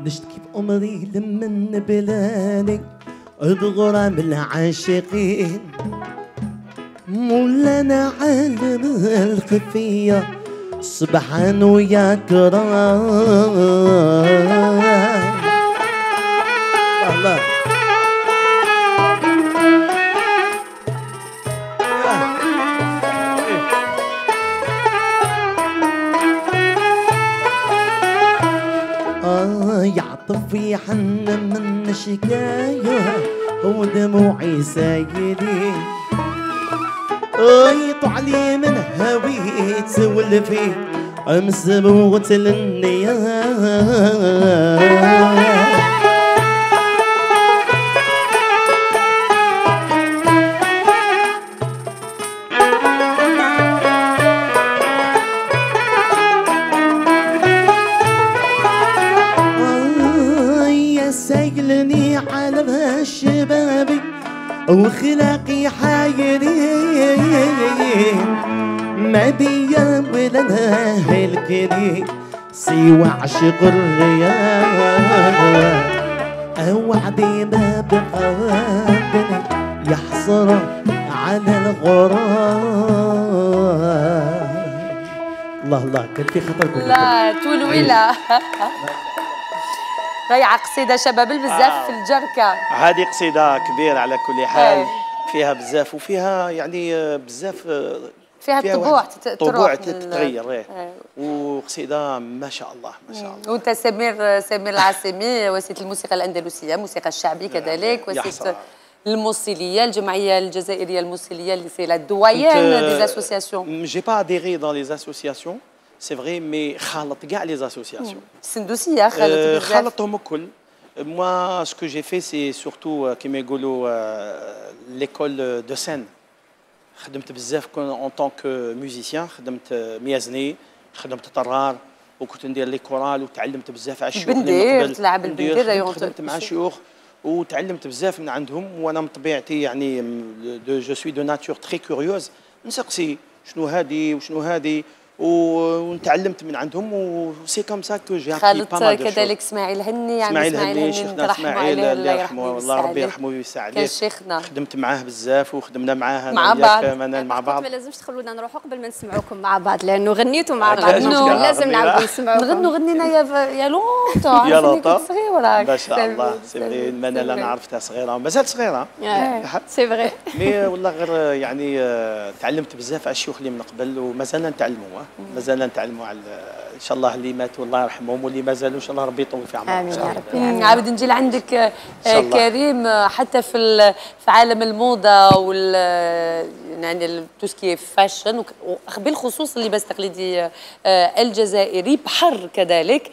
نشتكي بأمري لمن بلاني الغرام العاشقين مولانا عالم الخفية سبحان ويا كرام. الله يعطف يحن من شكاية ودموعي سايلين يطلع من هويت والفي امس موت للنيام. سايلني على الشبابي وخلاقي حايرين ما بيا ولا الكريم سوى عشق الرياض وعدي ما بقادني يحصر على الغرام. الله الله كان في خطركم. لا تولويلا رائعة قصيدة شباب بزاف في الجركة. هذه قصيدة كبيرة على كل حال. فيها بزاف وفيها يعني بزاف فيها طبوع تتغير. وقصيدة ما شاء الله ما شاء الله. وانت سمير العاصمي وسيط الموسيقى الأندلسية، موسيقى الشعبي كذلك، وسيط الموصلية الجمعية الجزائرية الموصلية اللي سي لا دويان دي اسوسياسيون. جي با اديري دون لي اسوسياسيون سي فري مي خالط كاع لي اسوسياسيون. السندوسية خالطتهم الكل. Moi, ce que j'ai fait, c'est surtout كما يقولوا l'école de scène. خدمت بزاف en tant que musicien، خدمت ميازني، خدمت طرار، وكنت ندير لي كورال وتعلمت بزاف على الشيوخ. بندير تلعب البندير، خدمت مع شيوخ وتعلمت بزاف من عندهم. وانا من طبيعتي يعني جو سوي دو ناتور تري كوريوز، نسقسي شنو هادي وشنو هادي ونتعلمت من عندهم، وسي كوم سا كو جي ابري با مال دو شوز. كذلك اسماعيل هني، اسماعيل هني شيخنا اسماعيل الله يرحمه، والله ربي يرحمه ويوسع عليه، كان شيخنا خدمت معاه بزاف وخدمنا معاه مع بعض مع بعض. ما لازمش تخلونا نروحوا قبل ما نسمعوكم مع بعض، لانه غنيتوا مع بعض لازم نعاودوا نسمعوكم. غنينا يا لونطون، يا لونطون صغيره ما شاء الله. سي فري المنال انا عرفتها صغيره ومازال صغيره، سي فري. مي والله غير يعني تعلمت بزاف على الشيوخ اللي من قبل ومازال نتعلموا، مازال نتعلموا على ان شاء الله اللي ماتوا الله يرحمهم واللي مازالوا ان شاء الله ربي يطول في عمرهم. امين يا رب. عاود نجي لعندك كريم، حتى في عالم الموضه وال يعني تو سكي فاشن بالخصوص اللباس التقليدي الجزائري بحر كذلك،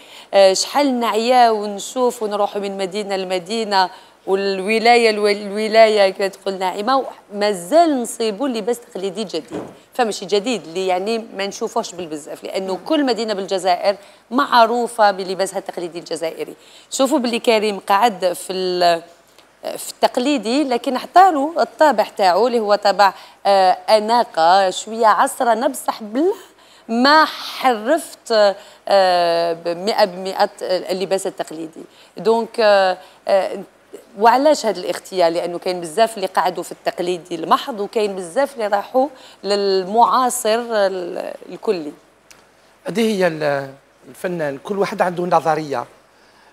شحال نعيا ونشوف ونروح من مدينه لمدينه والولايه كما تقول ناعمه، مازال نصيبوا لباس تقليدي جديد، فماشي جديد اللي يعني ما نشوفوش بالبزاف، لانه كل مدينه بالجزائر معروفه بلباسها التقليدي الجزائري. شوفوا باللي كريم قعد في التقليدي، لكن حطالو الطابع تاعو اللي هو طابع اناقه شويه عصرنا، بصح بلا ما حرفت 100% اللباس التقليدي. دونك وعلاش هذا الاختيار؟ لانه كاين بزاف اللي قعدوا في التقليدي المحض، وكاين بزاف اللي راحوا للمعاصر الكلي. هذه هي الفنان، كل واحد عنده نظريه.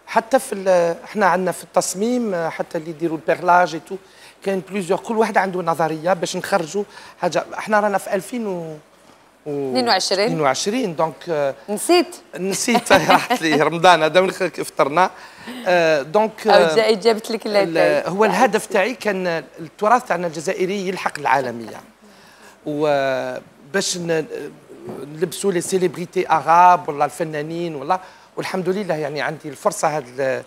حتى في احنا عندنا في التصميم، حتى اللي يديروا البيرلاج تو كاين بليزيور، كل واحد عنده نظريه باش نخرجوا حاجه. احنا رانا في 2022 دونك نسيت راحت لي رمضان هذا فطرنا. دونك جابت لك هو الهدف تاعي كان التراث تاعنا الجزائري يلحق العالميه، وباش نلبسوا لي سيليبريتي اغاب ولا الفنانين ولا، والحمد لله يعني عندي الفرصه هاد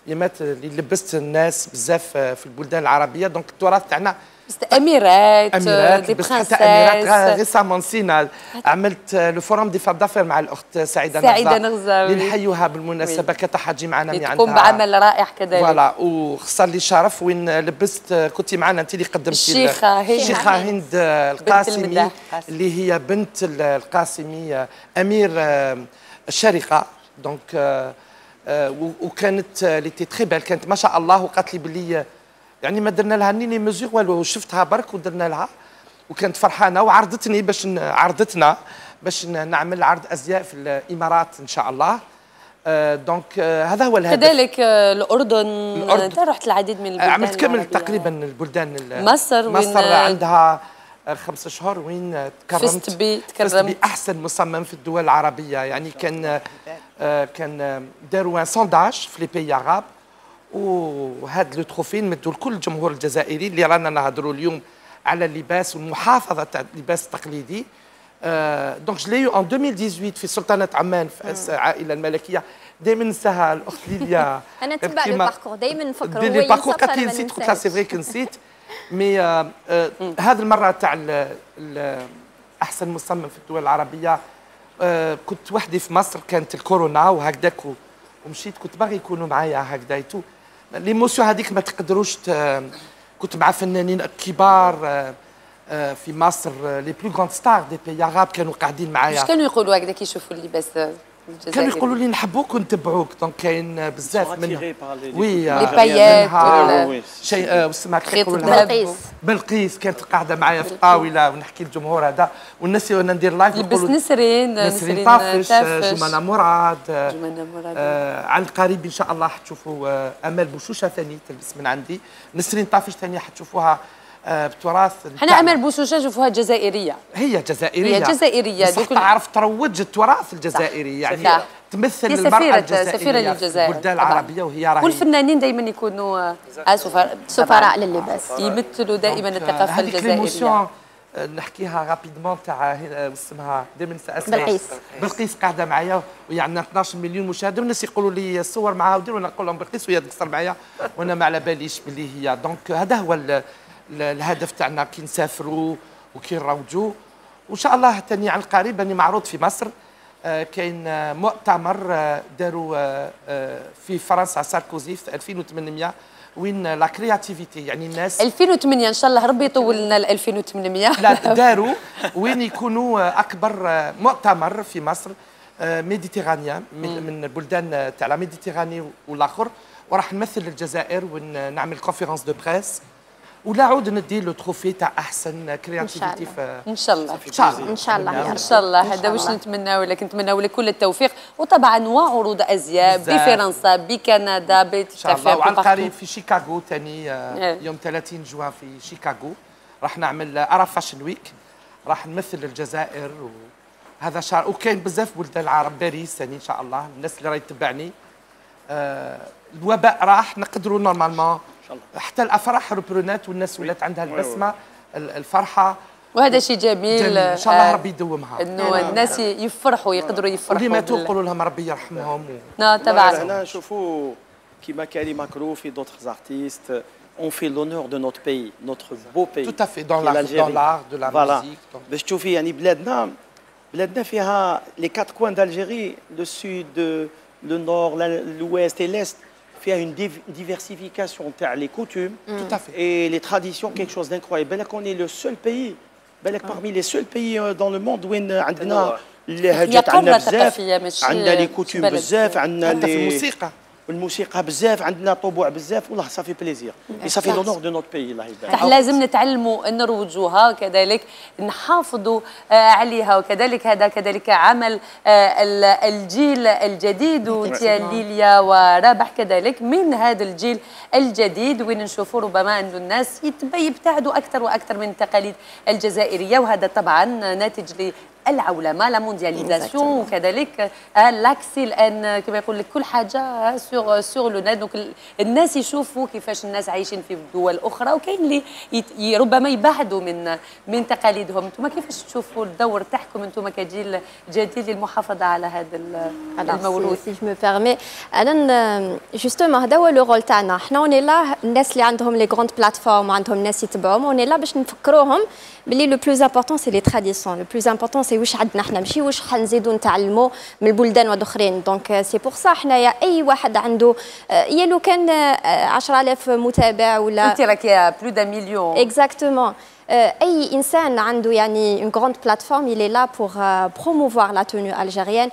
الايامات اللي لبست الناس بزاف في البلدان العربيه. دونك التراث تاعنا اميرات دي برنسيس. اميرات ريسامون نسينا، عملت لو فورم دي فاب دافير مع الاخت سعيده نغزاوي اللي نحيوها بالمناسبه، كانت حاجي معنا من عندها، تقوم بعمل رائع كذلك. فوالا، وخصها لي شرف وين لبست، كنت معنا انت اللي قدمتي الشيخه هند القاسمي اللي هي بنت القاسمي امير الشرقه. دونك وكانت لي تي تري بال، كانت ما شاء الله، وقالت لي بلي يعني ما درنا لها ني لي ميزور والو، شفتها برك ودرنا لها، وكانت فرحانه وعرضتني عرضتنا باش نعمل عرض ازياء في الامارات ان شاء الله. دونك هذا هو الهدف. كذلك الاردن انت رحت العديد من البلدان، عملت كامل تقريبا البلدان. مصر عندها 5 أشهر وين تكرمت، فزت بأحسن مصمم في الدول العربيه. يعني كان داروا ان سونداج في لي بيي عرب، وهذا لو تروفي نمدوا لكل الجمهور الجزائري اللي رانا نهضروا اليوم على اللباس والمحافظه تاع اللباس التقليدي. دونك جو لي ان 2018 في سلطنه عمان في العائله الملكيه. دائما ننساها الاخت ليليا، انا نتبع لو باركور دائما نفكر هو ينسى، قالت لي نسيت، قلت لها سي فري كنسيت. مي هذه المره تاع احسن مصمم في الدول العربيه كنت وحدي في مصر، كانت الكورونا وهكذاك، ومشيت كنت باغي يكونوا معايا هكذا تو ليموسيون هذيك ما تقدروش كنت مع فنانين كبار في مصر، لي بلو غراند ستار دي بي عرب كانوا قاعدين معايا. اش كانوا يقولوا هكذا كي يشوفوا اللباس الجزائري؟ كانوا يقولوا لي نحبوك ونتبعوك. دونك كاين بزاف منهم وي لي بايات شيء اسمها بلقيس كانت قاعده معايا في الطاوله ونحكي للجمهور هذا، والناس وانا ندير لايف لبس نسرين طافش، جمانه مراد على القريب ان شاء الله حتشوفوا امال بوشوشه ثاني تلبس من عندي، نسرين طافش ثانيه حتشوفوها بتراث. حنا امل بوشوشه نشوفوها جزائريه، هي جزائريه بس تعرف تروج التراث الجزائري، يعني تمثل المرأة الجزائرية في البلدان العربية، وهي راهي والفنانين دايما يكونوا سفراء لللباس، يمثلوا دائما الثقافة الجزائرية. نحكيها رابيدمون تاع اسمها دائما ننسى اسمها بلقيس. بلقيس قاعده معايا وهي عندنا 12 مليون مشاهد والناس يقولوا لي الصور معاها ودير وانا نقول لهم بلقيس وهي تقصر معايا وانا ما على باليش باللي هي دونك هذا هو الهدف تاعنا كي نسافروا وكي نروجوا وان شاء الله تاني عن قريب اني معروض في مصر كاين مؤتمر داروا في فرنسا ساركوزي في 2800 وين لا كرياتيفيتي يعني الناس 2008 ان شاء الله ربي يطول لنا ل 2800 لا داروا وين يكونوا اكبر مؤتمر في مصر ميديتيرانيا من البلدان تاع لا ميديتيراني والاخر وراح نمثل الجزائر ونعمل كونفيرونس دو بريس ولا عود ندي له تروفي تاع احسن كرياتيفيتي ان شاء الله ان شاء الله ان شاء الله هذا واش نتمناو لك نتمناو لك كل التوفيق وطبعا وعروض ازياء بفرنسا بكندا ان شاء الله وعلى القريب في شيكاغو ثاني يوم 30 جوان في شيكاغو راح نعمل عرب فاشن ويك راح نمثل الجزائر وهذا شهر وكاين بزاف بلدان العرب باريس ثاني ان شاء الله الناس اللي راهي تتبعني الوباء راح نقدروا نورمالمون حتى الافراح ربرونات والناس ولات عندها البسمه الفرحه وهذا شيء جميل ان شاء الله ربي يدومها انه الناس يفرحوا يقدروا يفرحوا واللي ماتوا نقولوا لهم ربي يرحمهم طبعا هنا نشوفوا كيما كالي ماكرو في دوطخ ارتيست on fait l'honneur de notre pays, notre beau pays. Tout à fait, dans l'art, de la musique. باش تشوفي يعني بلادنا فيها les quatre coins d'Algérie, le sud, le nord, l'ouest et l'est. فيها une diversification تاع les coutumes tout à fait et les traditions quelque chose d'incroyable. بالك on est le seul pays بالك parmi les seuls pays dans le monde وين عندنا اللهجات عندنا بزاف عندنا les coutumes بزاف عندنا الموسيقى والموسيقى بزاف عندنا طبوع بزاف والله صافي بليزير صافي لونور دو نوت بي الله يبارك لازم نتعلموا نروجوها وكذلك نحافظوا عليها وكذلك هذا كذلك عمل الجيل الجديد ليليا ورابح كذلك من هذا الجيل الجديد وين نشوفوا ربما انه الناس يبتعدوا اكثر واكثر من التقاليد الجزائريه وهذا طبعا ناتج العولمه لا موندياليزاسيون وكذلك لاكسي الان كما يقول لك كل حاجه سور لو نت دونك الناس يشوفوا كيفاش الناس عايشين في دول اخرى وكاين اللي ربما يبعدوا من تقاليدهم انتم كيفاش تشوفوا الدور تاعكم انتم كجيل جديد للمحافظه على هذا الموروث سي جو مي بيرمي انا جوستومون هذا هو لو رول تاعنا حنا اوني لا الناس اللي عندهم لي غروند بلاتفورم وعندهم ناس يتبعوهم اوني لا باش نفكروهم بلي لو بلوز امبورطون سي لي تراديسيون لو بلوز امبورطون سي واش عندنا حنا ماشي واش حنزيدوا نتعلموا من البلدان والاخرين دونك سي بور سا حنايا اي واحد عنده يا لو كان 10000 متابع ولا انت راكي بلو دا مليون اكزاكتومون اي انسان عنده يعني اون غروند بلاتفورم il est là pour promouvoir la tenue algérienne.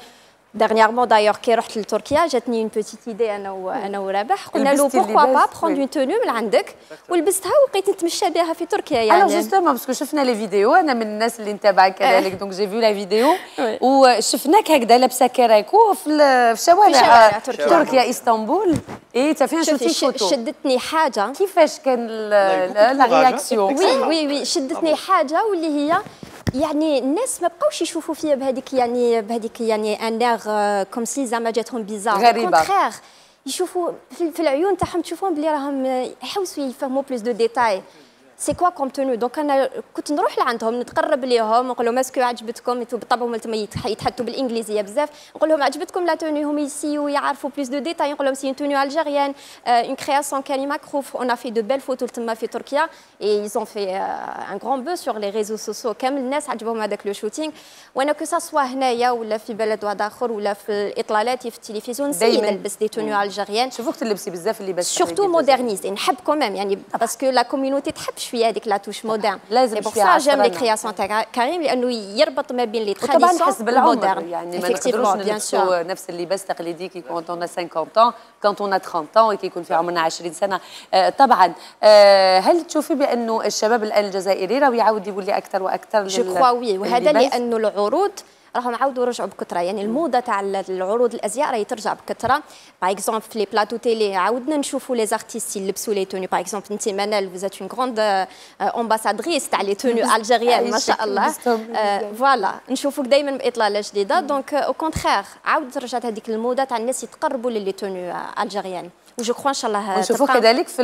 Dernièrement d'ailleurs كي رحت لتركيا جاتني اون بوتيت ايدي انا ورابح قلنا له بوركوا با بروند اون توني من عندك ولبستها وبقيت نتمشى بها في تركيا يعني الوغ جوستومون باسكو شفنا لي فيديو انا من الناس اللي نتابعك كذلك دونك جي فيو لا فيديو وشفناك هكذا لابسه كراكو في شوارع تركيا اسطنبول اي فين شفتي فوتو شدتني حاجه كيفاش كان لا رياكسيون وي شدتني حاجه واللي هي يعني الناس ما بقاوش يشوفوا فيا بهذيك يعني ان اير كوم سي زعما جاتهم بيزار كونترير يشوفوا في العيون تاعهم تشوفهم بلي راهم يحوسوا يفهموا بلوس دو ديتاي سي كوا كوم تونو دونك انا كنت نروح لعندهم نتقرب ليهم نقول لهم اسكو عجبتكم بالطبع هما يتحدثوا بالانجليزيه بزاف نقول لهم عجبتكم لا توني هم يسيو يعرفوا بلوس دو ديتاي نقول لهم سي اون توني الجيريان اون كرياسيون كالي ماكروف اون في دو بيل فوتو تما في تركيا اي ايزون في ان غران بو سور لي ريزو سوسيو كامل الناس عجبهم هذاك لو شوتينغ وانا كو سا سوا هنايا ولا في بلد واحد اخر ولا في الاطلالات في التلفزيون دائما نلبس دي توني الجيريان شوفوك تلبسي بزاف اللباس سورتو مودرنيزي نحب كوميم يعني باسكو لا كوميونيتي تحب شويه هذيك لا توش مودرن لازم بور سا جيم لي كرياسيون تاع كريم لانه يربط ما بين لي تراديسيون طبعا حسب العمر يعني ما نقدروش بيان سور نفس اللباس التقليدي كي كونت اون 50 ans كونت اون 30 ans كي يكون في عمرنا 20 سنه طبعا هل تشوفي بانه الشباب الان الجزائري راه يعاود يولي اكثر واكثر جو كوا وي وهذا لانه العروض راهم عاودوا رجعوا بكثره يعني الموضه تاع العروض الازياء راهي ترجع بكثره باغ اكزومبل في لي بلاطو تيلي عاودنا نشوفوا لي زارتيست يلبسوا لي توني باغ اكزومبل انت منال فوزات اون غروند امباسادريس تاع لي توني الجيريان ما شاء الله فوالا نشوفوك دائما باطلاله جديده دونك او كونترير عاودت رجعت هذيك الموضه تاع الناس يتقربوا للي توني الجيريان وجو كخوا ان شاء الله نشوفوا كذلك في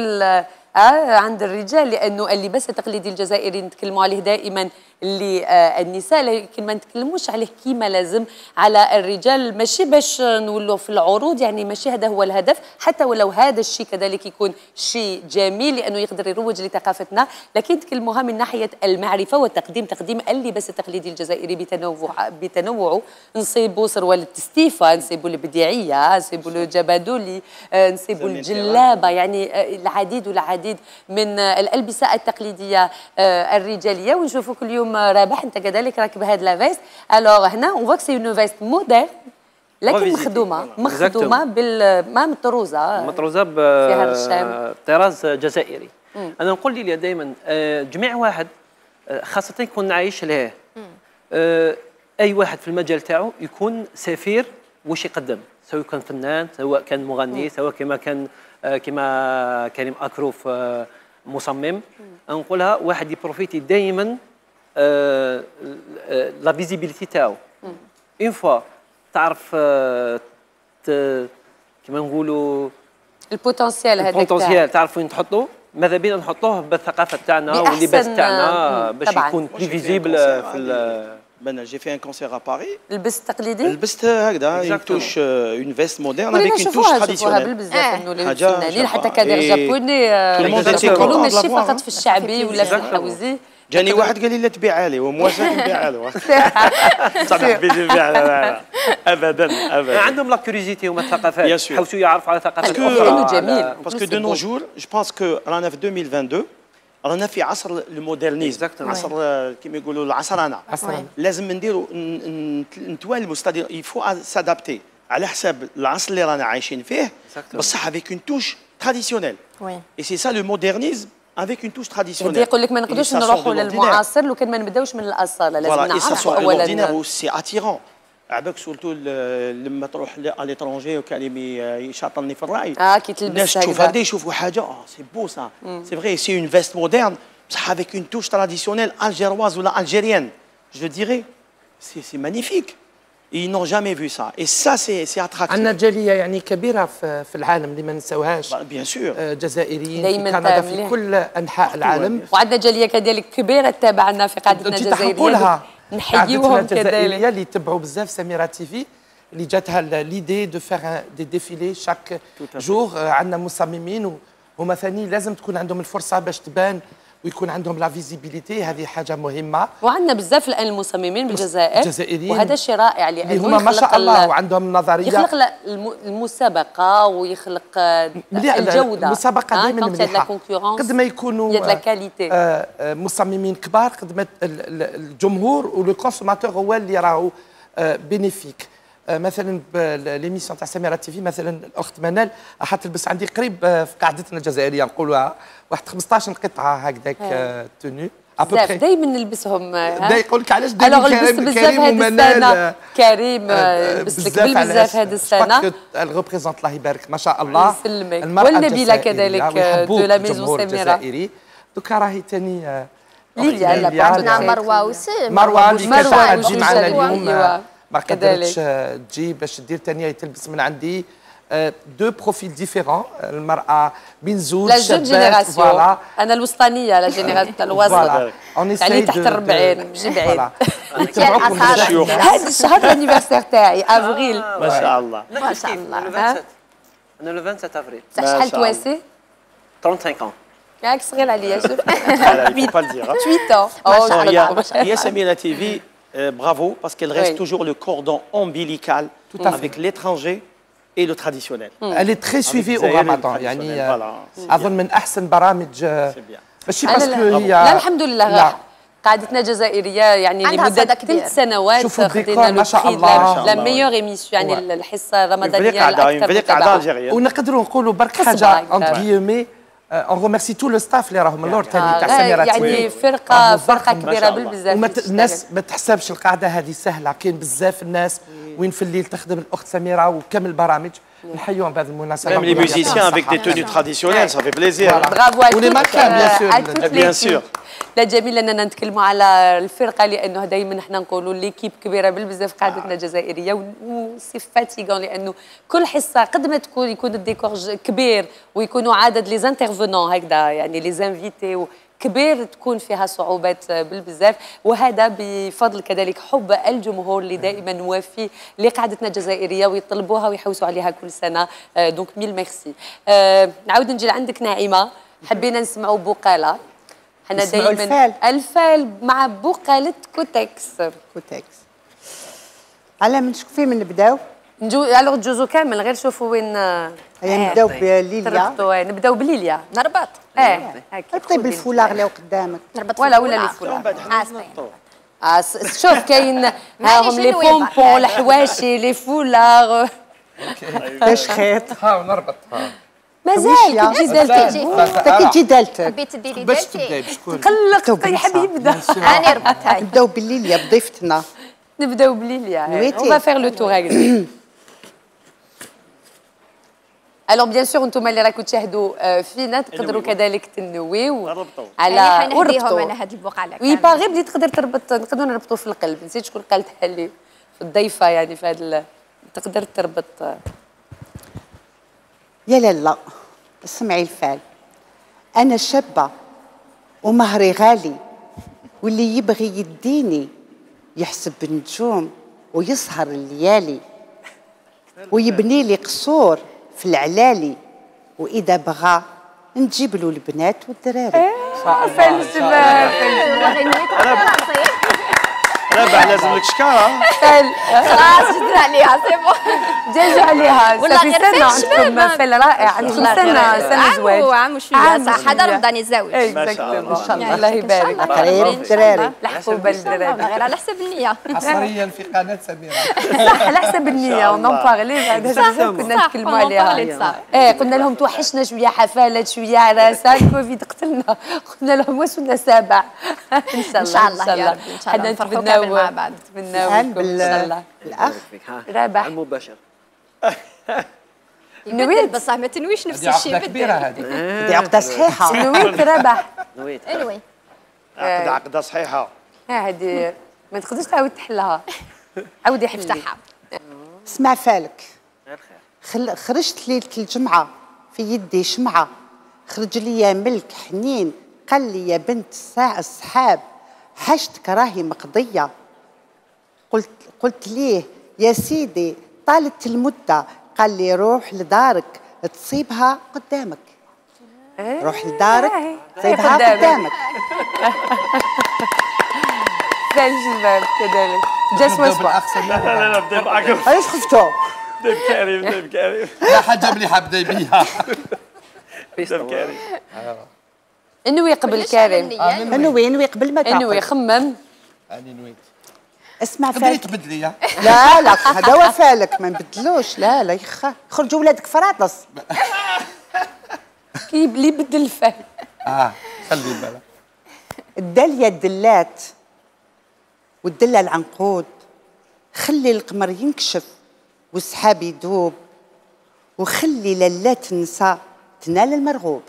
عند الرجال، لانه اللباس التقليدي الجزائري نتكلموا عليه دائما اللي النساء، لكن ما نتكلموش عليه كيما لازم على الرجال، ماشي باش نولوا في العروض، يعني ماشي هذا هو الهدف، حتى ولو هذا الشيء كذلك يكون شيء جميل لانه يقدر يروج لثقافتنا، لكن نتكلموها من ناحيه المعرفه والتقديم، تقديم اللباس التقليدي الجزائري بتنوعه، نصيبوا سروال التستيفه، نصيبوا البديعيه، نصيبوا الجبادولي، نصيبوا الجلابه، يعني العديد والعديد من الالبسه التقليديه الرجاليه، ونشوفوا كل يوم رابح انت كذلك راكب هاد لا فيست. الوغ هنا اون فوا سي اون فيست موديل لكن مخدومه ما مطروزه فيها طراز جزائري. انا نقول لي دائما جميع واحد خاصه يكون عايش له، اي واحد في المجال تاعو يكون سفير واش يقدم، سواء كان فنان، سواء كان مغني، سواء كما كريم اكروف مصمم. نقولها واحد يبروفيتي دائما لا فيزيبيليتي تاعو. اون فوا تعرف كما نقولوا البوتنسيال تعرف وين تحطوه، ماذا بينا نحطوه بالثقافه تاعنا واللباس تاعنا باش يكون بلي فيزيبل في Ben, j'ai fait un concert à Paris. لبست تقليدي؟ لبست هكذا une touche une veste moderne avec une touche traditionnelle. بزاف انه الفنانين حتى كادر جابوني يقولوا ماشي فقط في الشعبي ولا في الحوزي. جاني واحد قال لي لا تبيعها لي، وموافق نبيعها له. صح بيجي نبيعها ابدا. عندهم لا كوريزيتي هما الثقافات، حاولوا يعرفوا على ثقافات اخرى. جميل. باسكو دو نو جور جو بونس كو رانا في 2022 رانا في عصر المودرنيزم، عصر كما يقولوا العصرنه. لازم نديروا نتوالموا، ستادير يفو سادابتي على حساب العصر اللي رانا عايشين فيه، بصح افيك اون توش تراديسيونيل. اي سي سا لو مودرنيزم افيك اون توش تراديسيونيل. يقول لك ما نقدروش نروحوا للمعاصر لو كان ما نبداوش من الاصاله، لازم نعرفوا اولا. سي اتيرون عباك سورتو لما تروح ليترونجي وكان يشاطلني في الراي كي تلبس الناس تشوف هكذا يشوفوا حاجه سي بو سا سي فري سي اون فيست مودرن بصح افيك اون توش تراديسيونيل الجيرواز ولا الجيريان جو ديري سي مانيفيك. ils n'ont jamais vu ça et ça c'est attractif. عندنا جاليه يعني كبيره في العالم اللي ما نساوهاش، بيان سور جزائريين في كندا في كل انحاء العالم، وعندنا جاليه كذلك كبيره تابعنا في قاعدتنا الجزائريه، نحييوهم كذلك اللي يتبعوا بزاف سميرة تيفي، اللي جاتها ليدي دو فيغ دي ديفيلي شاك جور. عندنا مصممين وهما ثاني لازم تكون عندهم الفرصه باش تبان ويكون عندهم لا فيزيبيليتي، هذه حاجه مهمه. وعندنا بزاف الان المصممين بالجزائر الجزائريين، وهذا شيء رائع لانه هما ما شاء الله وعندهم نظريه، يخلق المسابقه ويخلق الجوده. المسابقه دائما مليحه قد ما يكونوا مصممين كبار، قد ما الجمهور ولو كونسوماتور هو اللي راهو بينيفيك. مثلا ليميسيون تاع سميرة تيفي مثلا الاخت منال راح تلبس عندي قريب في قاعدتنا الجزائريه نقولوها واحد 15 قطعه هكذاك توني بزاف دائما نلبسهم. يقول لك علاش دائما كريم ومنال كريم لبس لك بزاف هذه السنه. الريبريزونت الله يبارك ما شاء الله المراه والنبيله كذلك دو لا ميزون سميرة. دوكا راهي ثاني ليليا عندنا مروه وسام، مروه اللي كانت تجي معنا اليوم ما قدرتش تجي باش دير ثانيه تلبس من عندي دو بروفيل ديفيرون. المراه بين زوج شابات فوالا، انا الوسطانيه لا جينيراسيون تاع الوسط يعني تحت 40 ماشي بعيد. هذا الشهر الانيفرسير تاعي افريل ما شاء الله ما شاء الله. انا لو 27 افريل. شحال تواسي؟ 35 ans. ياك صغير عليا شوف. 8 ans. هي سميرة تيفي bravo parce qu'elle reste toujours le cordon ombilical avec l'étranger et le traditionnel. Elle est très suivie au Ramadan يعني أظن من أحسن برامج ماشي باسكو هي لا الحمد لله قاعدتنا جزائرية يعني لمدة 3 سنوات خدينا ما شاء الله لا ميور ايميسيون يعني الحصة الرمضانية الأكثر متابعة. ونقدروا نقولوا برك حاجة أونت غيومي اون ريميرسي تو لو ستاف اللي راهم اللور ثاني تاع سميرة يعني فرقه كبيره بالبزاف. الناس ما تحسبش القاعده هذه سهله، كاين بزاف الناس وين في الليل تخدم الاخت سميره وكامل البرامج نحيوهم بهذه المناسبه. Même les musiciens avec des tenues traditionnelles, ça fait plaisir. Bravo à tous. les mannequins bien sûr. Bien sûr. لا جميل اننا نتكلموا على الفرقه لانه دائما احنا نقولوا ليكيب كبيره بالبزاف قاعدتنا الجزائريه وسي فاتيغون لانه كل حصه قد ما يكون الديكور كبير ويكونوا عدد لي زانترفونون هكذا يعني لي زانفيتي كبير تكون فيها صعوبات بالبزاف وهذا بفضل كذلك حب الجمهور اللي دائما وافي لقاعدتنا الجزائريه ويطلبوها ويحوسوا عليها كل سنه دونك ميل ميرسي. نعاود نجي لعندك ناعمه حبينا نسمعوا بقاله حنا دائما الفال مع بقاله كوتكس على من شكون فين نبداو الوغ جوزو كامل غير شوفوا وين نبداو بليليا نبداو بليليا نربط طيب الفولاغ اللي قدامك نربط ولا لي فولاغ شوف كاين هاهم لي بومبون الحواشي لي فولاغ باش خيط ها ونربط مازال كي تجي دالتك كي تجي دالتك حبيت ديري باش دالتي تبداي بشكون قلق يحب يبدا راني ربط هاي نبداو بليليا بضيفتنا نبداو بليليا نويتي. on va faire le tour الوغ بيان سور انتم اللي راكم تشاهدوا فينا تقدروا كذلك تنويو على حنهديهم انا هاد البقعه وي باغي بلي تقدر تربط نقدروا نربطوا في القلب نسيت شكون قالتها لي في الضيفه يعني في هذا تقدر تربط يا لالا اسمعي الفال انا شابه ومهري غالي واللي يبغي يديني يحسب النجوم ويسهر الليالي ويبني لي قصور في العلالي واذا بغى نجيب له البنات والدراري رابح لازم لك شكاره خلاص جبنا عليها سي بون جاجوا عليها والله غير سنه عندكم فيل رائع عندكم سنه زواج عام وشويه صح هذا رمضان الزواج ان شاء الله الله يبارك قريب الدراري الحبوبه الدراري غير على حسب النيه حصريا في قناه سميره صح على حسب النيه ونون بارلي بعد هذا كنا نتكلموا عليها قلنا لهم توحشنا شويه حفلات شويه عراسه الكوفيد قتلنا قلنا لهم واسونا سابع ان شاء الله يا ربي ان شاء الله نفرحوا كامل مع بعض نتمناو لكم ان شاء الله الاخ رابح المباشر نويت بصح ما تنويش نفس الشيء عقده كبيره هذه دي عقده صحيحه نويت رابح نويت انوي عقده صحيحه هذه ما تقدرش تعاود تحلها عاودي افتحها اسمع فالك خرجت ليله الجمعه في يدي شمعه خرج لي ملك حنين قال لي يا بنت السحاب حاجتك راهي مقضيه قلت ليه يا سيدي طالت المده قال لي روح لدارك تصيبها قدامك روح لدارك تصيبها قدامك زين الشباب كذلك جاس واسبوع لا بدي معك علاش خفتوا بدي بكريم لا حاجه مليحه بداي بيها كريم انوي قبل كريم انوي قبل ما تاكل انوي خمم اني نويت اسمع تقدري فالك تبدلي لا هذا هو فالك ما نبدلوش لا يخا خرجوا ولادك فراطس كي اللي بدل الفهم خلي بالك الداليه الدلات والدله العنقود خلي القمر ينكشف والسحاب يدوب وخلي لا تنسى تنال المرغوب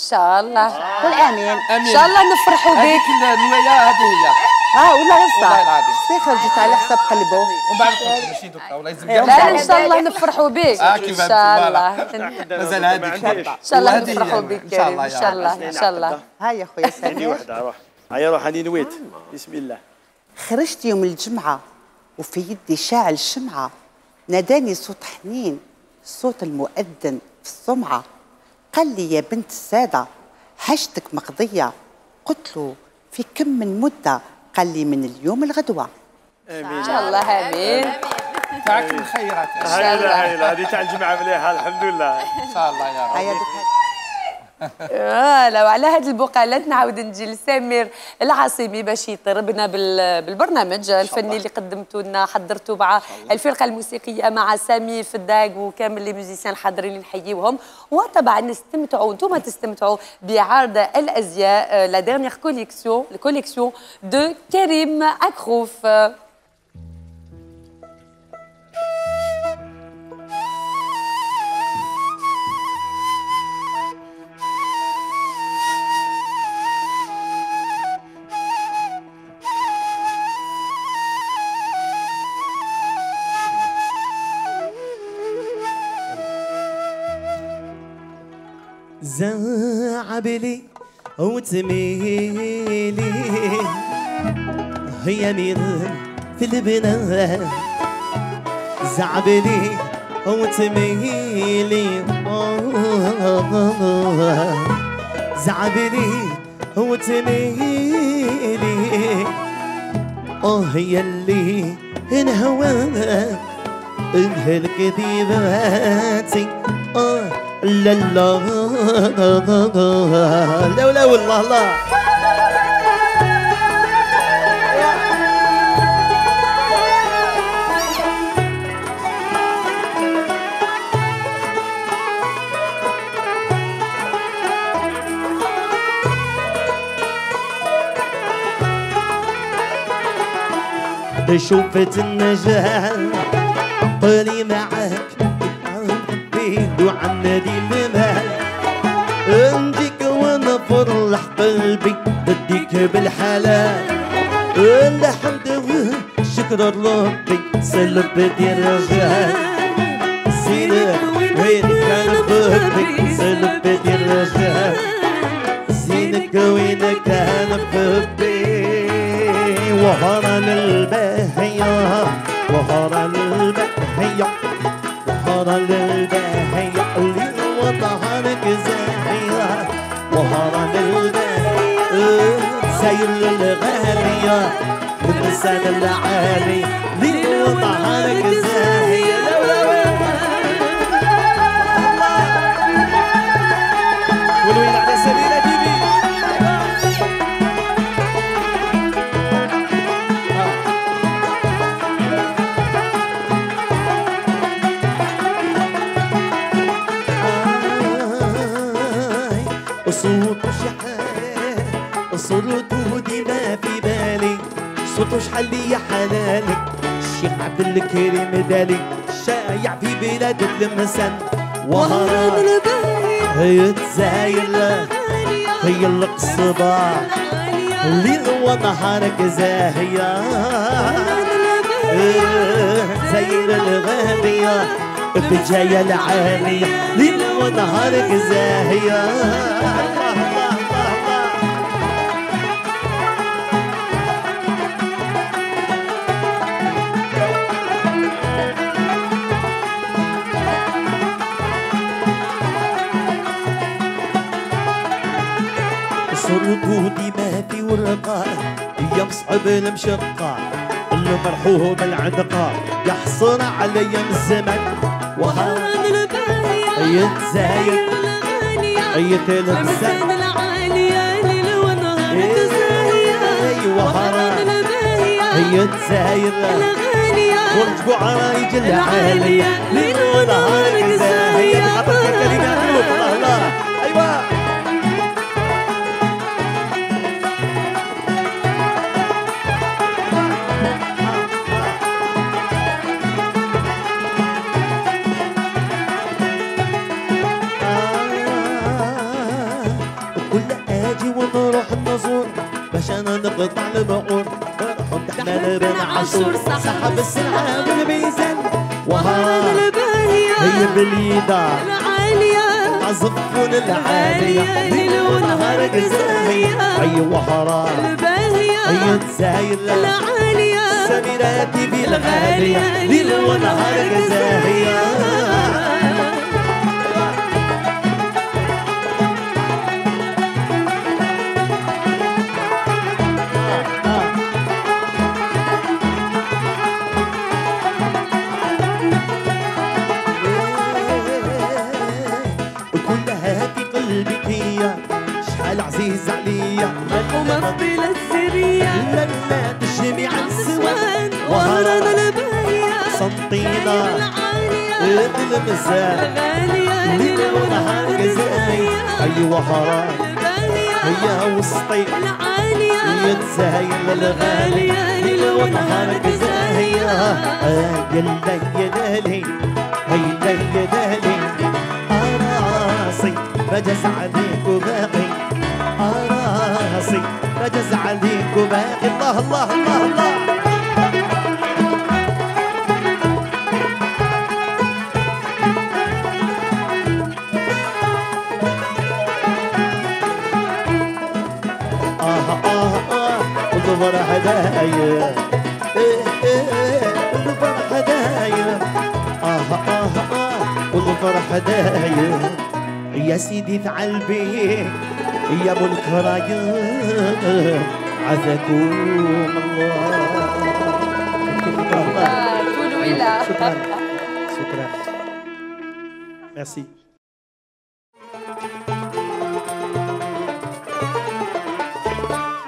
ان شاء الله قول امين ان شاء الله نفرحوا بك هذيك النوايا هذه هي والله والله هسه العظيم شتي خرجت على حساب قلبه ومن بعد ماشي دوكا ولا يلزم لا ان شاء الله نفرحوا بك ان كيف شاء الله مازال هذيك ان شاء الله نفرحوا بك كريم ان شاء الله ان شاء الله ها يا خويا عندي سمير وحده روح هيا روح هاني نويت بسم الله خرجت يوم الجمعة وفي يدي شاعل شمعة ناداني صوت حنين صوت المؤذن في السمعة قال لي يا بنت السادة حاجتك مقضية قلت له في كم من مدة قال لي من اليوم الغدوة ان شاء الله امين تاعك الخيرات ان هاي هذه تاع الجمعه مليحه الحمد لله شاء الله يا رب هيا لو على هذه البقالات نعاود نجي لسمير العاصمي باش يطربنا بالبرنامج الفني اللي قدمتوا لنا حضرتوا مع الفرقه الموسيقيه مع سامي فداق وكامل لي ميوزيسيان الحاضرين اللي نحييوهم وطبعا نستمتعوا انتم تستمتعوا بعرض الازياء لا ديرنيير كوليكسيون دو كريم اكروف. زعبلي وتميلي هي مين في البنات زعبلي وتميلي زعبلي وتميلي هي اللي انهواك الكذباتي لا لا لا والله الله شوفت النجاة طلي معاك وعن دي المال نجيك وانا فرح قلبي بديك بالحلال الحمد والشكر ربي سلبت يا رجال زينك وين كان حبك سلبت يا رجال زينك وين كان حبي وهران الباهية وهران الباهية وهران الباهية اللي وطهرك زاهية وهران الباهية سير الغالية واللسان العالي اللي وطهرك زاهية والويل على سبيل تيفي صوت شحال صوت ودي ما في بالي صوت شحال يا حلالك الشيخ عبد الكريم دالي شايع في بلاد المسن وهران الباهية هي تزاير هي القصبة اللي هو نهارك زاهية زاير الغالية بجاية العالية اللي هو نهارك زاهية صرقودي ما في ورقة يا مصعب المشقة المرحوم العنقة يحصر علي الزمن وهران الباهية يتزايد يتلبسن العالية ليل ونهار تزاهية وهران الباهية يتزايد ورجبوا عرايج العالية ليل ونهار تزاهية بخطرك كلمات الله الله أيوة باش انا نقطع البعور فرحوا تحمل بن عاشور سحب السلعه والميزان وهران الباهية هي باليدا العالية عزفون العالية ليل ونهار زاهية اي وهران الباهية هي تزاير العالية سميراتي بالغالية ليل ونهار زاهية عزيز عليا ومقبل السرية لما تجمي عن السوان وهران الباهية صنطينا المساء الغالية ليل ونهار جزايا أي وهران هي وسطي العالية هي تزايل الغالية ليل ونهار جزايا يلا يدالي هيلا يدالي راسي بجز عليك وباقي راسي بجز عليك وباقي الله الله الله الله والفرح داير والفرح داير والفرح داير يا سيدي افعل بيك يا ابو الكرايم عزكم الله. شكرا شكرا ميرسي.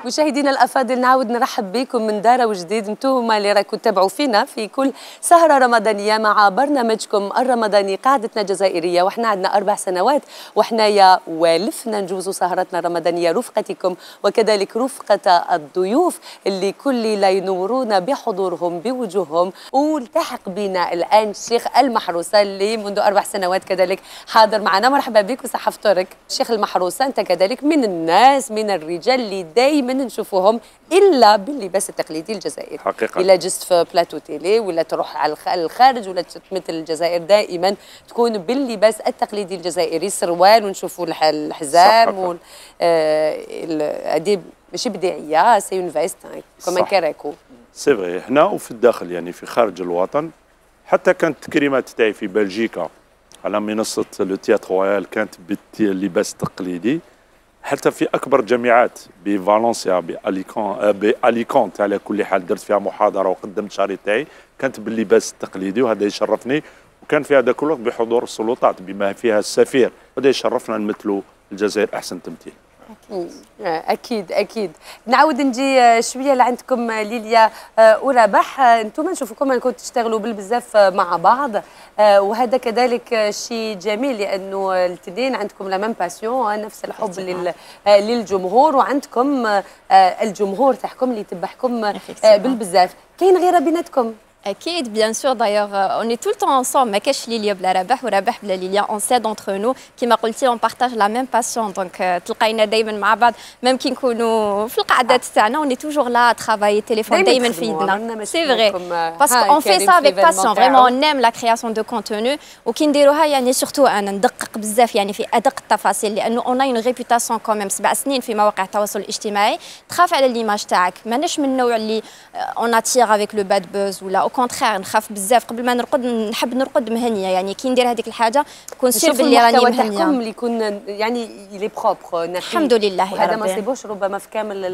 مشاهدينا الافاضل، نعاود نرحب بكم من دار وجديد. انتم اللي راكم تتابعوا فينا في كل سهره رمضانيه مع برنامجكم الرمضاني قاعدتنا الجزائريه، وحنا عندنا 4 سنوات وحنايا والفنا نجوزوا سهرتنا الرمضانيه رفقتكم وكذلك رفقه الضيوف اللي كل ليله ينورونا بحضورهم بوجوههم. والتحق بنا الان الشيخ المحروسه اللي منذ 4 سنوات كذلك حاضر معنا. مرحبا بك وصحه فطورك الشيخ المحروسه. انت كذلك من الناس من الرجال اللي دائما نشوفوهم الا باللباس التقليدي الجزائري حقيقة. الا جست في بلاتو تيلي ولا تروح على الخارج ولا تمثل الجزائر دائما تكون باللباس التقليدي الجزائري، السروال ونشوفوا الحزام هذه ماشي بديعيه، سي اون فيست كوم كاريكو. سي فري هنا وفي الداخل يعني في خارج الوطن. حتى كانت التكريمات تاعي في بلجيكا على منصه لو تياتر رويال كانت باللباس التقليدي. حتى في اكبر جامعات بفالنسيا باليكونت على كل حال درت فيها محاضره وقدمت شاري تاعي كانت باللباس التقليدي، وهذا يشرفني. وكان في هذاك الوقت بحضور السلطات بما فيها السفير، وهذا يشرفنا نمثلوا الجزائر احسن تمثيل. اكيد اكيد. نعاود نجي شويه لعندكم ليليا ورباح. انتم نشوفكم انكم تشتغلوا بالبزاف مع بعض، وهذا كذلك شيء جميل لانه الاثنين عندكم لا ميم باسيون، نفس الحب للجمهور، وعندكم الجمهور تاعكم اللي يتبعكم بالبزاف. كاين غيره بيناتكم؟ أكيد bien sûr d'ailleurs on est tout le temps ensemble ما كاش ليليا بلا رباح ورباح بلا ليليا on sait d'entre nous كما قلتي on partage la même passion donc تلقاينا دائما مع بعض ميم كي نكونوا في القعدات تاعنا on est toujours là à travailler téléphone دائما في يدنا c'est vrai parce qu'on fait ça avec passion vraiment on aime la création de contenu وكي نديروها يعني surtout أنا ندقق بزاف يعني في أدق التفاصيل لأنه on a une réputation quand même 7 سنين في مواقع التواصل الاجتماعي تخاف على ليماج تاعك ماناش من النوع اللي on attire avec le bad buzz ولا كونتخير نخاف بزاف قبل ما نرقد نحب نرقد مهنيه يعني كي ندير هذيك الحاجه كون سير باللي راني مهنيه. المحتوى اللي يكون يعني لي بروبر الحمد لله يا ربي. هذا ما صيبوش ربما في كامل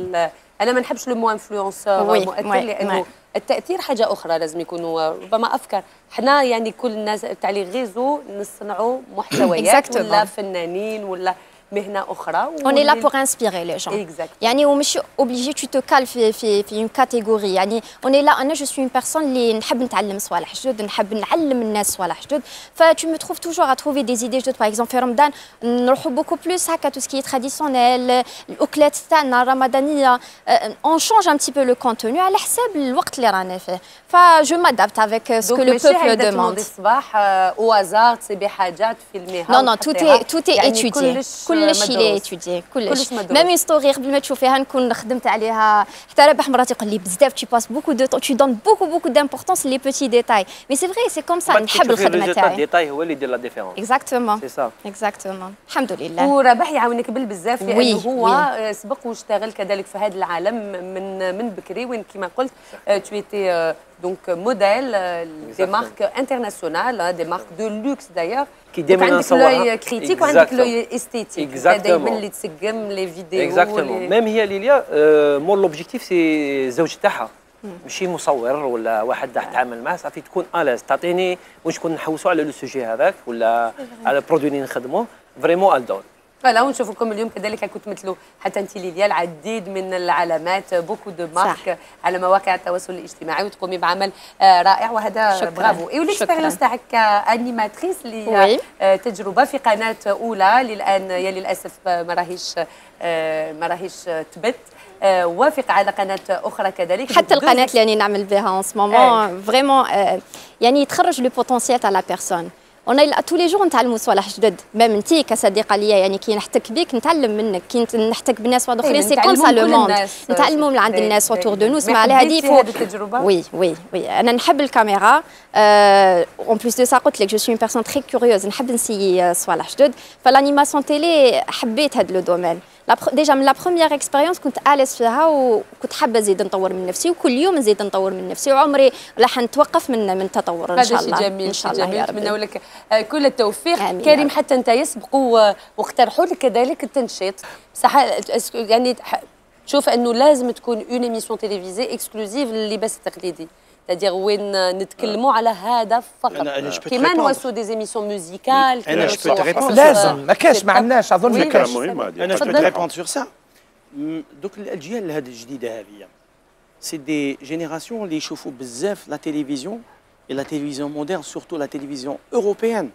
انا ما نحبش لو مو انفلونسور مؤثر لانه التاثير حاجه اخرى لازم يكونوا ربما افكار. حنا يعني كل الناس تاع لي غيزو نصنعوا محتويات ولا فنانين ولا مهنه اخرى. On est là pour inspirer les gens. Exactement. يعني ومش obligé tu te cales في une catégorie يعني on est là. أنا je suis une personne اللي نحب نتعلم صوالح جدد نحب نعلم الناس صوالح جدد ف tu me trouves toujours à trouver des idées جدد. par exemple في رمضان نروحوا beaucoup plus هكا tout ce qui est traditionnel الأكلات تاعنا الرمضانية on change un petit peu le contenu على حساب الوقت اللي رانا فيه ف je m'adapte avec ce que le peuple demande. الصباح au hasard تصيبي حاجات فيلميها. non tout est étudié كلش اللي يتودي كلش ميم ستوري قبل ما تشوفيها نكون خدمت عليها. حتى ربح مراتي يقول لي بزاف tu passes beaucoup de temps tu donnes beaucoup d'importance les petits détails mais c'est vrai c'est comme ça نحب الخدمه تاعي. الديتاي هو اللي يدير لا ديفيرونس. اكزاكتومون سي سا اكزاكتومون الحمد لله. وربح يعاونك بالبزاف لانه هو سبق واشتغل كذلك في هذا العالم من بكري وين كما قلت tu étais donc modèle des marques internationales, des marques de luxe d'ailleurs. Qui démontrent l'œil critique ou l'œil esthétique. Exactement. اللي تسقم les vidéos. Exactement. Même هي ليليا مور l'objectif c'est الزوج تاعها. ماشي مصور ولا واحد راح تعامل معاه صافي تكون الاز تعطيني واش كنا نحوسوا على لو سوجي هذاك ولا على البرودوي اللي نخدموه فريمون الدور. فلا ونشوفكم اليوم كذلك كنت تمثلوا حتى انت ليليا العديد من العلامات بوكو دو مارك على مواقع التواصل الاجتماعي وتقومي بعمل رائع وهذا برافو. اي وليكسبيريونس تاعك كانيماتريس اللي تجربه في قناه اولى للان يا للاسف ما راهيش تبت وافق على قناه اخرى كذلك حتى القناه اللي راني نعمل بها اون سو مومون فريمون يعني تخرج لو بوتونسيال تاع لا بيرسون. انا تو لي جور نتعلموا صوالح جدد ميم انت كصديقه ليا يعني كي نحتك بيك نتعلم منك كي نحتك بالناس واحد اخرين سي كوم سا لو موند نتعلموا من عند الناس اوتور دو نو اسمع على هذه هذه التجربه. وي انا نحب الكاميرا اون بليس دو سا قلت لك جو سوي اون بيرسون تري كوريوز نحب نسيي صوالح جدد فلانيماسيون تيلي حبيت هذا لو دومين ديجا من لا بروميير اكسبيريونس كنت اليس فيها وكنت حابه نزيد نطور من نفسي وكل يوم نزيد نطور من نفسي وعمري راح نتوقف من التطور ان شاء الله. هذا شيء جميل، ان شاء الله جميل. يا ربي. نتمنى لك كل التوفيق. كريم حتى انت يسبقوا واقترحوا لك كذلك التنشيط بصح يعني تشوف انه لازم تكون اون ايميسيون تيليفيزي اكسكلوزيف لللباس التقليدي تادير وين نتكلموا على هذا فقط كيما نوصلوا دي زيميسيون موزيكال لازم ما كاش ما عندناش اظن ما كاش. انا جو بو ريبوند سور سا. دوك الاجيال هذه الجديده هذه سي دي جينيراسيون اللي يشوفوا بزاف لا تيليفزيون et la télévision moderne, surtout la télévision européenne.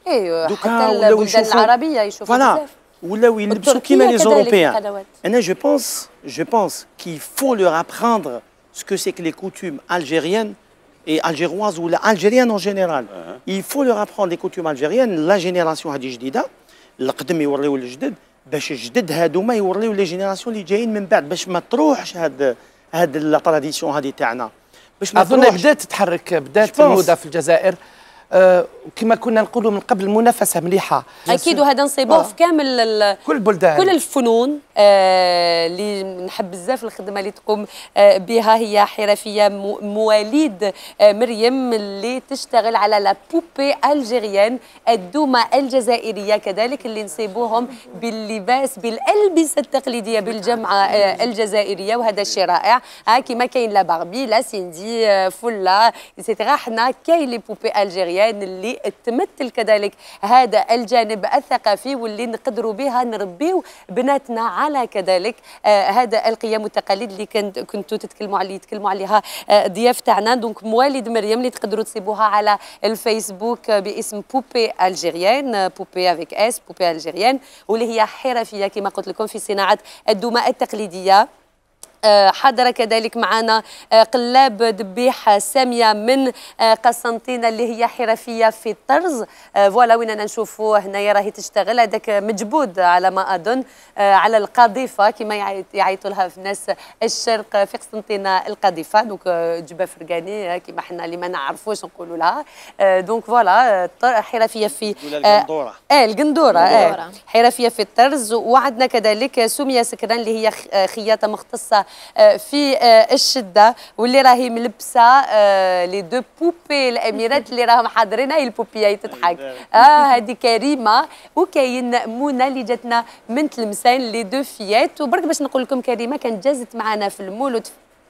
ايوه حتى البلدان العربيه يشوفوا بزاف ولاو يلبسوا كيما لي زوروبيان. انا جو بونس qu'il faut leur apprendre ce que c'est que les coutumes algériennes et algéroises ou algériennes en général. Il faut leur apprendre les coutumes algériennes. La génération هذه جديده القدم يوريو للجدد باش الجدد هادوما يوريو لي جينيراسيون اللي جايين من بعد باش ما تروحش هاد لا تراديسيون هذه تاعنا. اظن بدات تتحرك بدات الموضه في الجزائر كما كنا نقولوا من قبل منافسه مليحه اكيد وهذا نصيبوه في كامل كل البلدان كل الفنون اللي نحب بزاف الخدمه اللي تقوم بها هي حرفيه مواليد مريم اللي تشتغل على لا بوبي الجيريان الدومه الجزائريه كذلك اللي نصيبوهم باللباس بالالبسه التقليديه بالجامعه الجزائريه وهذا الشيء رائع كما كاين لا باربي لا سيندي فله ايتترا حنا كاين لي بوبي الجيريان اللي تمثل كذلك هذا الجانب الثقافي واللي نقدروا بها نربيو بناتنا على كذلك هذا القيم والتقاليد اللي كنتوا تتكلموا عليها ضياف تاعنا. دونك مواليد مريم اللي تقدروا تصيبوها على الفيسبوك باسم بوبي الجيريان بوبي افيك اس بوبي الجيريان واللي هي حرفيه كما قلت لكم في صناعه الدماء التقليديه. حضر كذلك معنا قلاب دبيح ساميه من قسنطينه اللي هي حرفيه في الطرز فوالا وين نشوفوا هنايا راهي تشتغل هذاك مجبود على ما اظن على القاذفه كما يعيطوا لها في ناس الشرق في قسنطينه القاذفه دونك جبه فرقاني كما حنا اللي ما نعرفوش نقولوا لها دونك فوالا حرفيه في القندوره حرفيه في الطرز. وعندنا كذلك سميه سكران اللي هي خياطه مختصه في الشده واللي راهي ملبسه لي دو بوبي الاميرات اللي راهم حاضرين هاي البوبيه هي تضحك هذه كريمه وكاين منى اللي جاتنا من تلمسان لي دو فيات. وبرك باش نقول لكم كريمه كانت جازت معنا في المولد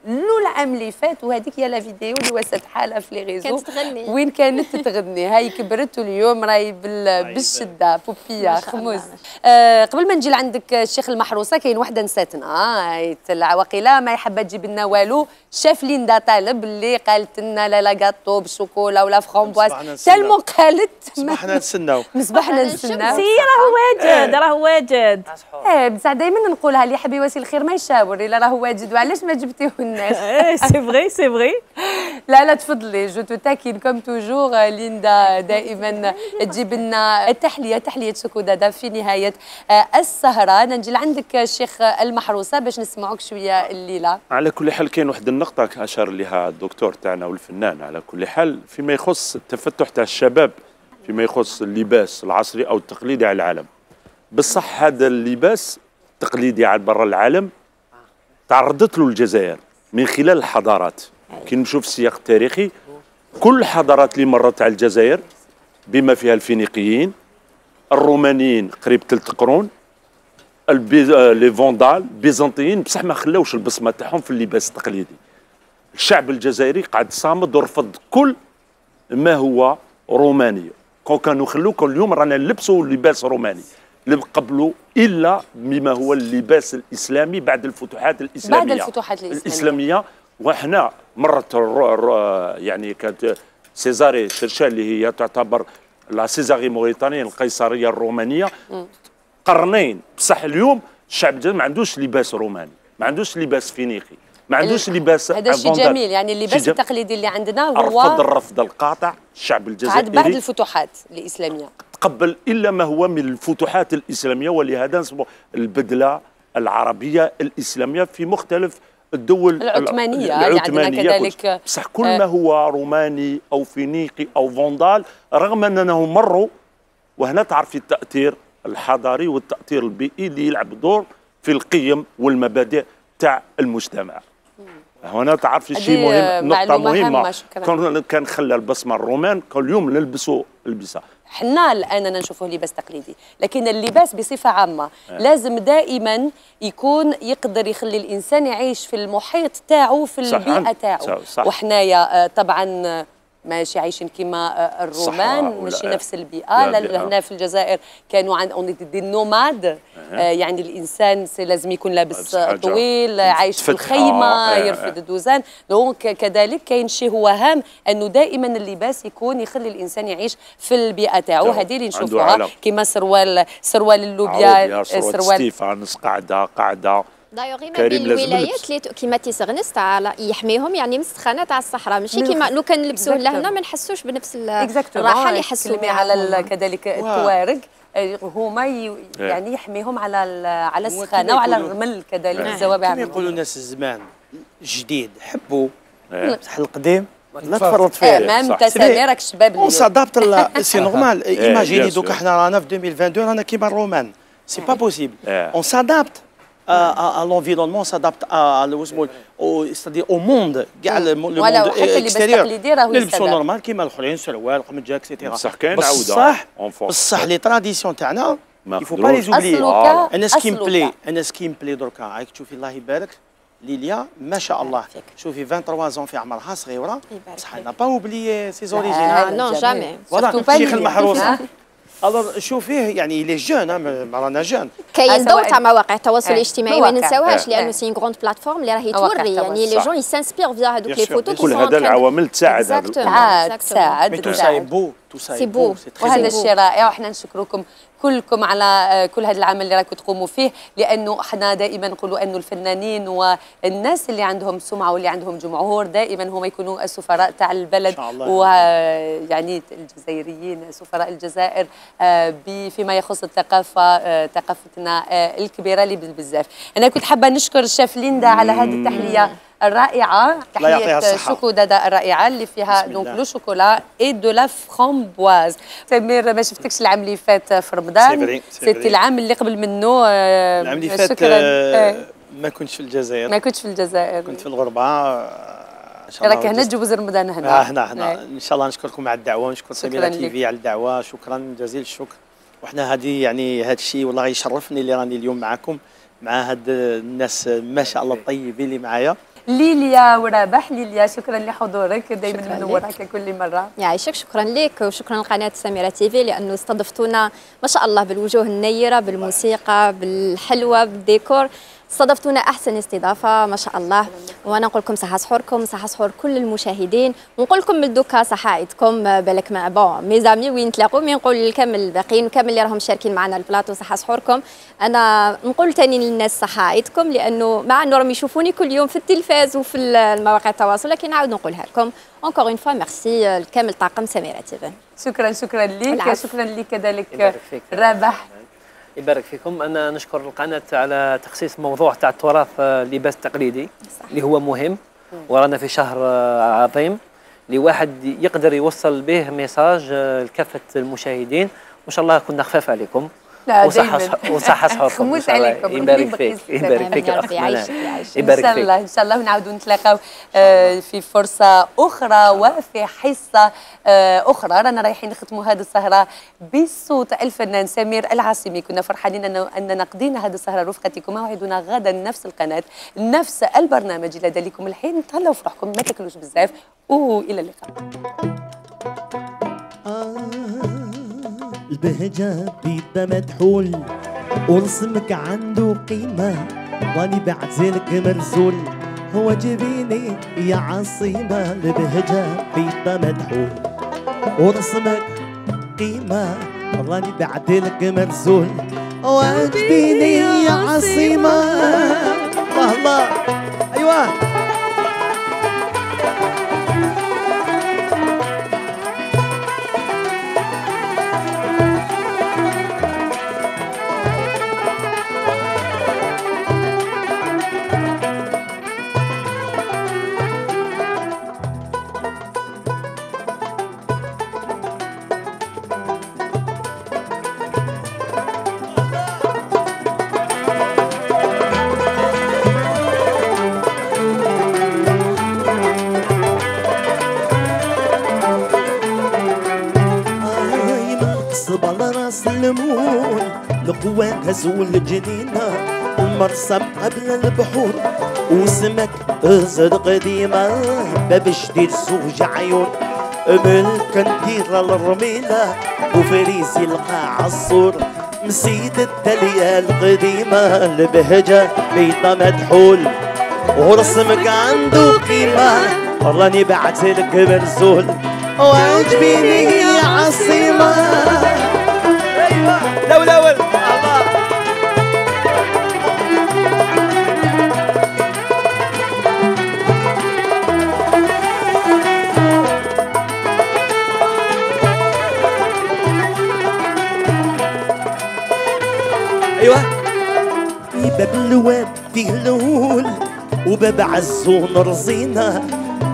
العام اللي فات وهذيك هي لا فيديو اللي وست حالها في لي ريزو كانت تغني وين كانت تغني هاي كبرت واليوم راهي بالشده بوبيه خموس. قبل ما نجي لعندك الشيخ المحروسه كاين وحده نساتنا العواقله ما يحب تجيب لنا والو شاف ليندا طالب اللي قالت لنا لا لا غاتو بالشوكولا ولا فرامبواز تالمون قالت صبحنا نستناو صبحنا نستناو سي راه واجد بصح دائما نقولها اللي يحب يواسي الخير ما يشاور الا راه واجد وعلاش ما جبتيه سي فري لا تفضلي جو تو تاكين كوم توجور ليندا دائما تجيب لنا تحليه سكودادا في نهايه السهره. نجي لعندك الشيخ المحروسه باش نسمعوك شويه الليله. على كل حال كاين واحد النقطه اشار لها الدكتور تاعنا والفنان على كل حال فيما يخص التفتح تاع الشباب فيما يخص اللباس العصري او التقليدي على العالم. بصح هذا اللباس التقليدي على برا العالم تعرضت له الجزائر من خلال الحضارات. كي نمشوا في السياق التاريخي كل الحضارات اللي مرت على الجزائر بما فيها الفينيقيين الرومانيين قريب 3 قرون لي فوندال البيزنطيين بصح ما خلاوش البصمه تاعهم في اللباس التقليدي. الشعب الجزائري قاعد صامد ورفض كل ما هو روماني. كانوا خلوك اليوم رانا نلبسوا لباس روماني قبلوا الا بما هو اللباس الاسلامي بعد الفتوحات الاسلاميه وحنا مرت يعني كانت سيزاري شرشال اللي هي تعتبر لا سيزاري موريتانيا القيصريه الرومانيه قرنين. بصح اليوم الشعب الجزائري ما عندوش لباس روماني ما عندوش لباس فينيقي ما عندوش لباس هذا شيء جميل يعني اللباس التقليدي اللي عندنا هو الرفض القاطع الشعب الجزائري بعد الفتوحات الاسلاميه تقبل الا ما هو من الفتوحات الاسلاميه ولهذا نسموا البدله العربيه الاسلاميه في مختلف الدول العثمانيه عندنا كذلك بصح كل ما هو روماني او فينيقي او فوندال رغم انهم مروا وهنا تعرفي التاثير الحضاري والتاثير البيئي اللي يلعب دور في القيم والمبادئ تاع المجتمع. هنا تعرف شيء مهم، نقطة مهمة كان خلى البصمة الرومان كل يوم نلبسوا البسة. حنا الآن نشوفه لباس تقليدي، لكن اللباس بصفة عامة لازم دائما يكون يقدر يخلي الإنسان يعيش في المحيط تاعو في البيئة تاعو. وحنايا طبعا ماشي عايشين كيما الرومان، ماشي نفس البيئة. هنا في الجزائر كانوا عن دي نوماد، يعني الإنسان لازم يكون لابس طويل، عايش في الخيمة، يرفد الدوزان. دونك كذلك كاين شيء هو هام أنه دائما اللباس يكون يخلي الإنسان يعيش في البيئة تاعو. هذه اللي نشوفوها كيما سروال اللوبيا، سروال ستيفانس، قاعدة دايوغ ما بين الولايات اللي كيما تيسغنس تاع يحميهم، يعني مسخانه تاع الصحراء، ماشي كيما لو كان نلبسوه لهنا ما نحسوش بنفس الراحه اللي يحسوا بها. على كذلك التوارق هما يعني يحميهم على السخانه وعلى الرمل كذلك الزوابع. كما يقولوا الناس الزمان جديد حبوا بصح القديم لا تفرط فيه. مام انت سامي راك شباب اون سادابت سي نورمال. ايماجيني دوكا حنا رانا في 2022 رانا كيما الرومان، سي با بوسيبل. اون سادابت à l'environnement, s'adapte c'est-à-dire au monde, le monde extérieur. نلبسوا نورمال كيما الاخرين، سروال قمجه اكسيتيرا. بصح كاين عوده بصح لي تراديسيون تاعنا يفو با لي زوبلي. انا سكيم بلي دركا راك تشوفي الله يبارك ليليا ما شاء الله، شوفي 23 في عمرها صغيره، بصح انا با اوبليي سي زوريجين. نو جامي فوالا الشيخ المحروسه. الوغ شوفيه يعني لي جون رانا جون. كاين ضوء تاع مواقع التواصل الاجتماعي ما ننساوهاش، لانه سي غروند بلاتفورم اللي راهي توري يعني لي جون يسانسبير فيها هذوك لي فوتو. كل هذا العوامل تساعد هذا تساعد تو ساي بو سي بو. وهذا الشيء رائع، وحنا نشكركم كلكم على كل هذا العمل اللي راكم تقوموا فيه، لانه احنا دائما نقولوا انه الفنانين والناس اللي عندهم سمعه واللي عندهم جمهور دائما هم يكونوا السفراء تاع البلد، ويعني الجزائريين سفراء الجزائر فيما يخص الثقافه، ثقافتنا الكبيره اللي بزاف. انا كنت حابه نشكر الشيف ليندا على هذه التحليه الرائعه، تحليه شوكولاته الرائعه اللي فيها دونك لو شوكولا اي دو لا فرامبواز. سمير ما شفتكش العام اللي فات في رمضان، سيتي العام اللي قبل منه. العام اللي فات ما كنتش في الجزائر. ما كنتش في الجزائر، كنت في الغربه. راك هنا تجوز رمضان هنا. هنا ان شاء الله. نشكركم على الدعوه، ونشكر سميرة تي في على الدعوه، شكرا جزيل الشكر. وحنا هذه يعني هذا الشيء والله يشرفني اللي راني اليوم معكم مع هاد الناس ما شاء الله الطيبين اللي معايا. ليليا ورابح، ليليا شكرا لحضورك، دائما منورك كل مره. يعيشك، شكرا لك وشكرا لقناه سميرة تي في لانه استضفتونا ما شاء الله بالوجوه النيره، بالموسيقى، بالحلوه، بالديكور. استضفتونا احسن استضافه ما شاء الله. وانا نقول لكم صحه سحوركم، صحه سحور كل المشاهدين، ونقول لكم من دوكا صحه عيدكم بالك مع بون ميزامي وين نتلاقوا. مي نقول لكامل الباقيين وكامل اللي راهم شاركين معنا البلاطو صحه سحوركم. انا نقول ثاني للناس صحه عيدكم، لانه مع انه راهم يشوفوني كل يوم في التلفاز وفي المواقع التواصل، لكن نعاود نقولها لكم اونكور اون فوا ميرسي لكامل طاقم سميرة تي في. شكرا ليك، شكرا لك كذلك رابح. يبارك فيكم. انا نشكر القناه على تخصيص موضوع تاع التراث اللباس التقليدي اللي هو مهم، ورانا في شهر عظيم اللي واحد يقدر يوصل به ميساج لكافه المشاهدين، وان شاء الله كنا خفاف عليكم وصحة سحوركم. خموس عليكم. يبارك فيك، يبارك فيك. يبارك فيك ان شاء الله ونعاودوا نتلاقاو في فرصه اخرى وفي حصه اخرى. رانا رايحين نختموا هذه السهره بصوت الفنان سمير العاصمي. كنا فرحانين اننا قضينا هذه السهره رفقتكم. موعدنا غدا نفس القناه نفس البرنامج. الى ذلكم الحين تهلاو في روحكم، ما تاكلوش بزاف، والى اللقاء. البهجة بيدنا مدحول ورسمك عنده قيمة، واني بعزلك مرزول هو جبيني يا عاصمة. البهجة بيدنا مدحول ورسمك قيمة، راني بعدلك مرزول هو جبيني يا عاصمة. الله ايوه. الليمون القوة هزول الجنينة المرسم قبل البحور وسمك ازرق قديمة باب جديد زوج عيون بالكنديرة الرميلة وفريسي القاع الصور مسيد الدلية القديمة البهجة بيضة مدحول ورسمك عنده قيمة راني بعتلك مرزول واجبيني يا عصيمة. ايوه الاول ايوه باب اللواب فيه الهول وباب عزون رزينة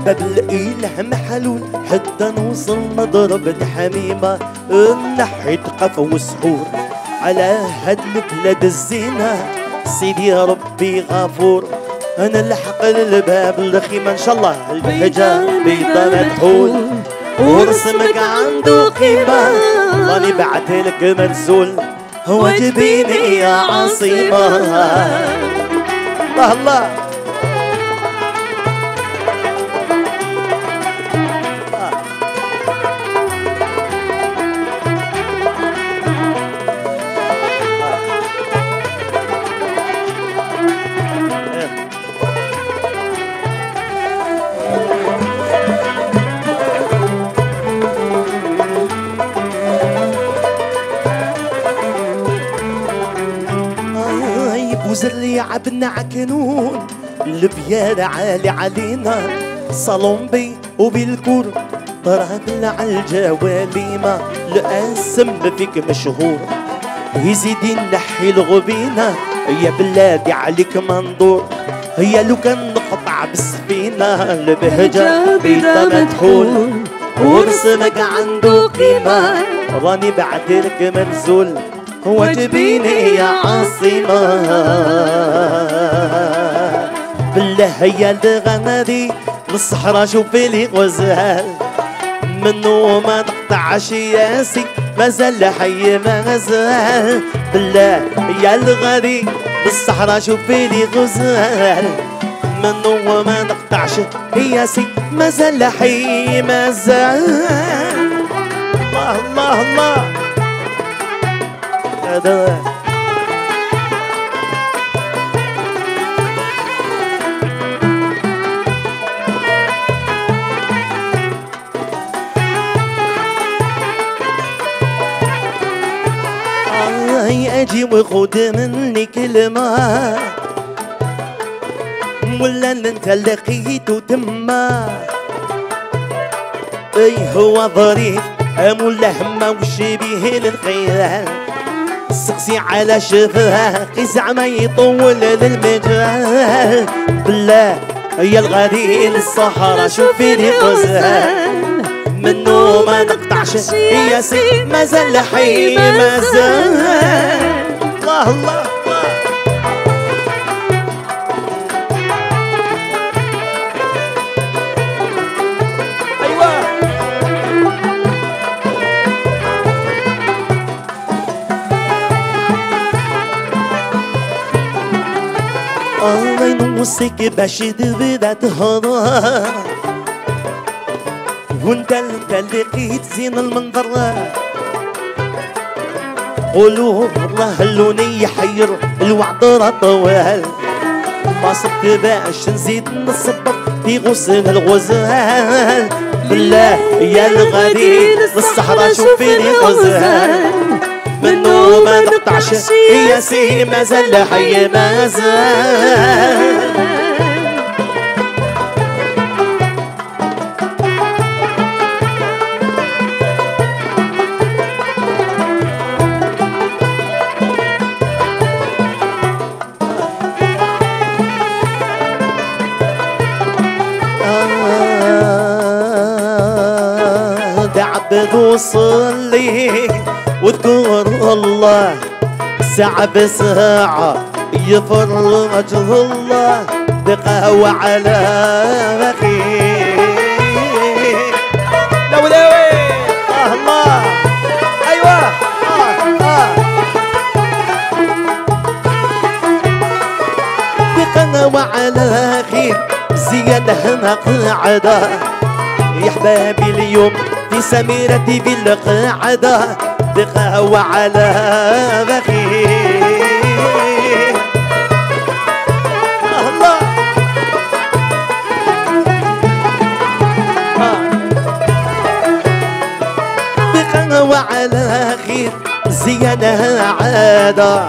باب الإله محلول حتى نوصل نضرب الحميمة نحيت قف وسحور على هاد البلاد الزينة سيدي يا ربي غفور أنا الحق للباب الخيمة إن شاء الله البهجة بيضة مدحول ورسمك عنده قيمة راني بعتلك مرزول واجبيني يا عصيمة. الله الله وزري عبنا عكنون البيار عالي علينا صالون وبالكور ضربنا عالجواليمة الاسم فيك مشهور يزيدي نحي الغبينة يا بلادي عليك منظور هي لو كان نقطع بالسفينة البهجة بيضة مدحول ورسمك عنده قيمة راني بعتلك مرزول واجبيني يا عاصمة. بالله هي الغنادي بالصحراء شوفي لي غزال منو ما نقطعش ياسي مازال حي ما زال بالله يا الغادي بالصحراء شوفي لي غزال منو ما نقطعش ياسي مازال حي ما زال. الله الله الله هذا اجي وخد مني كلمة ولا انت لقيته تما اي هو ظريف ولا همه وشبيه للخيال سقسي على شفاه زعما يطول للمجال بالله يا الغادي للصحراء شوفي لي غزال منو ما نقطعش يا سي مازال حي مازال. الله الله الله ينوصك باش تبدا تهضر وانت اللي لقيت زين المنظر قولوا الله اللوني يحير الوعد راه طوال ما صدت باش نزيد نصبر في غصن الغزال بالله يا الغادي للصحراء شوفي لي غزال منو ما نقطعش يا سي مازال حي مازال. عبد وصلي وذكر الله ساعة بساعة يفرج الله بقهوة على مخيل لولاوي الله ايوه زيادة قاعدة يا حبابي اليوم في سميرة في القاعدة بقهوة على بخير الله بقهوة على خير زيادة عادة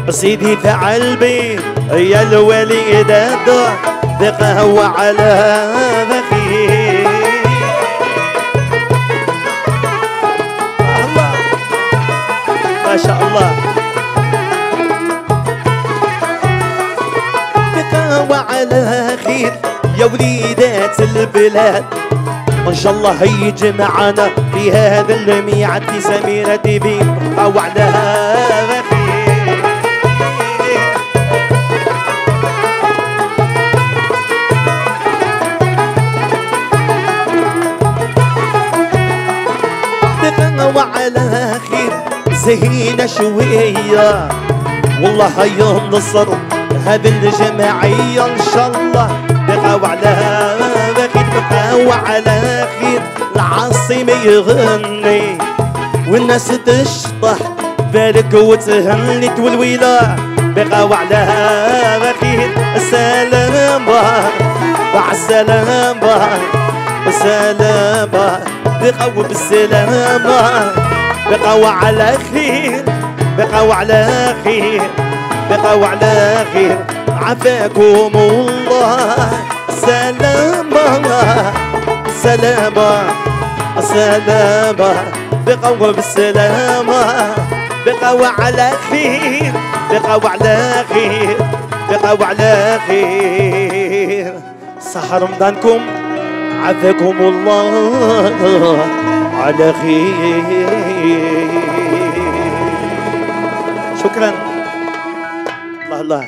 سيدي فعل بي يا الوليدة بقهوة على بخير الله ما شاء الله بقهوة على خير يا وليدات البلاد ان شاء الله يجمعنا في هذا الميعاد في سميرة تيفي بقهوة على بخير وعلى خير زهينا شوية والله ينصر هذه الجماعية إن شاء الله بقاو على خير بقاو على خير العاصمة يغني والناس تشطح بارك وتهني والويلة بقاو على خير السلام مع السلامة السلامة بقوا بالسلامة بقوا على خير بقوا على خير بقوا على خير عافاكم الله سلامة سلامة سلامة بقوا بالسلامة بقوا على خير بقوا على خير بقوا على خير صحة رمضانكم عافاكم الله على خير شكرا الله الله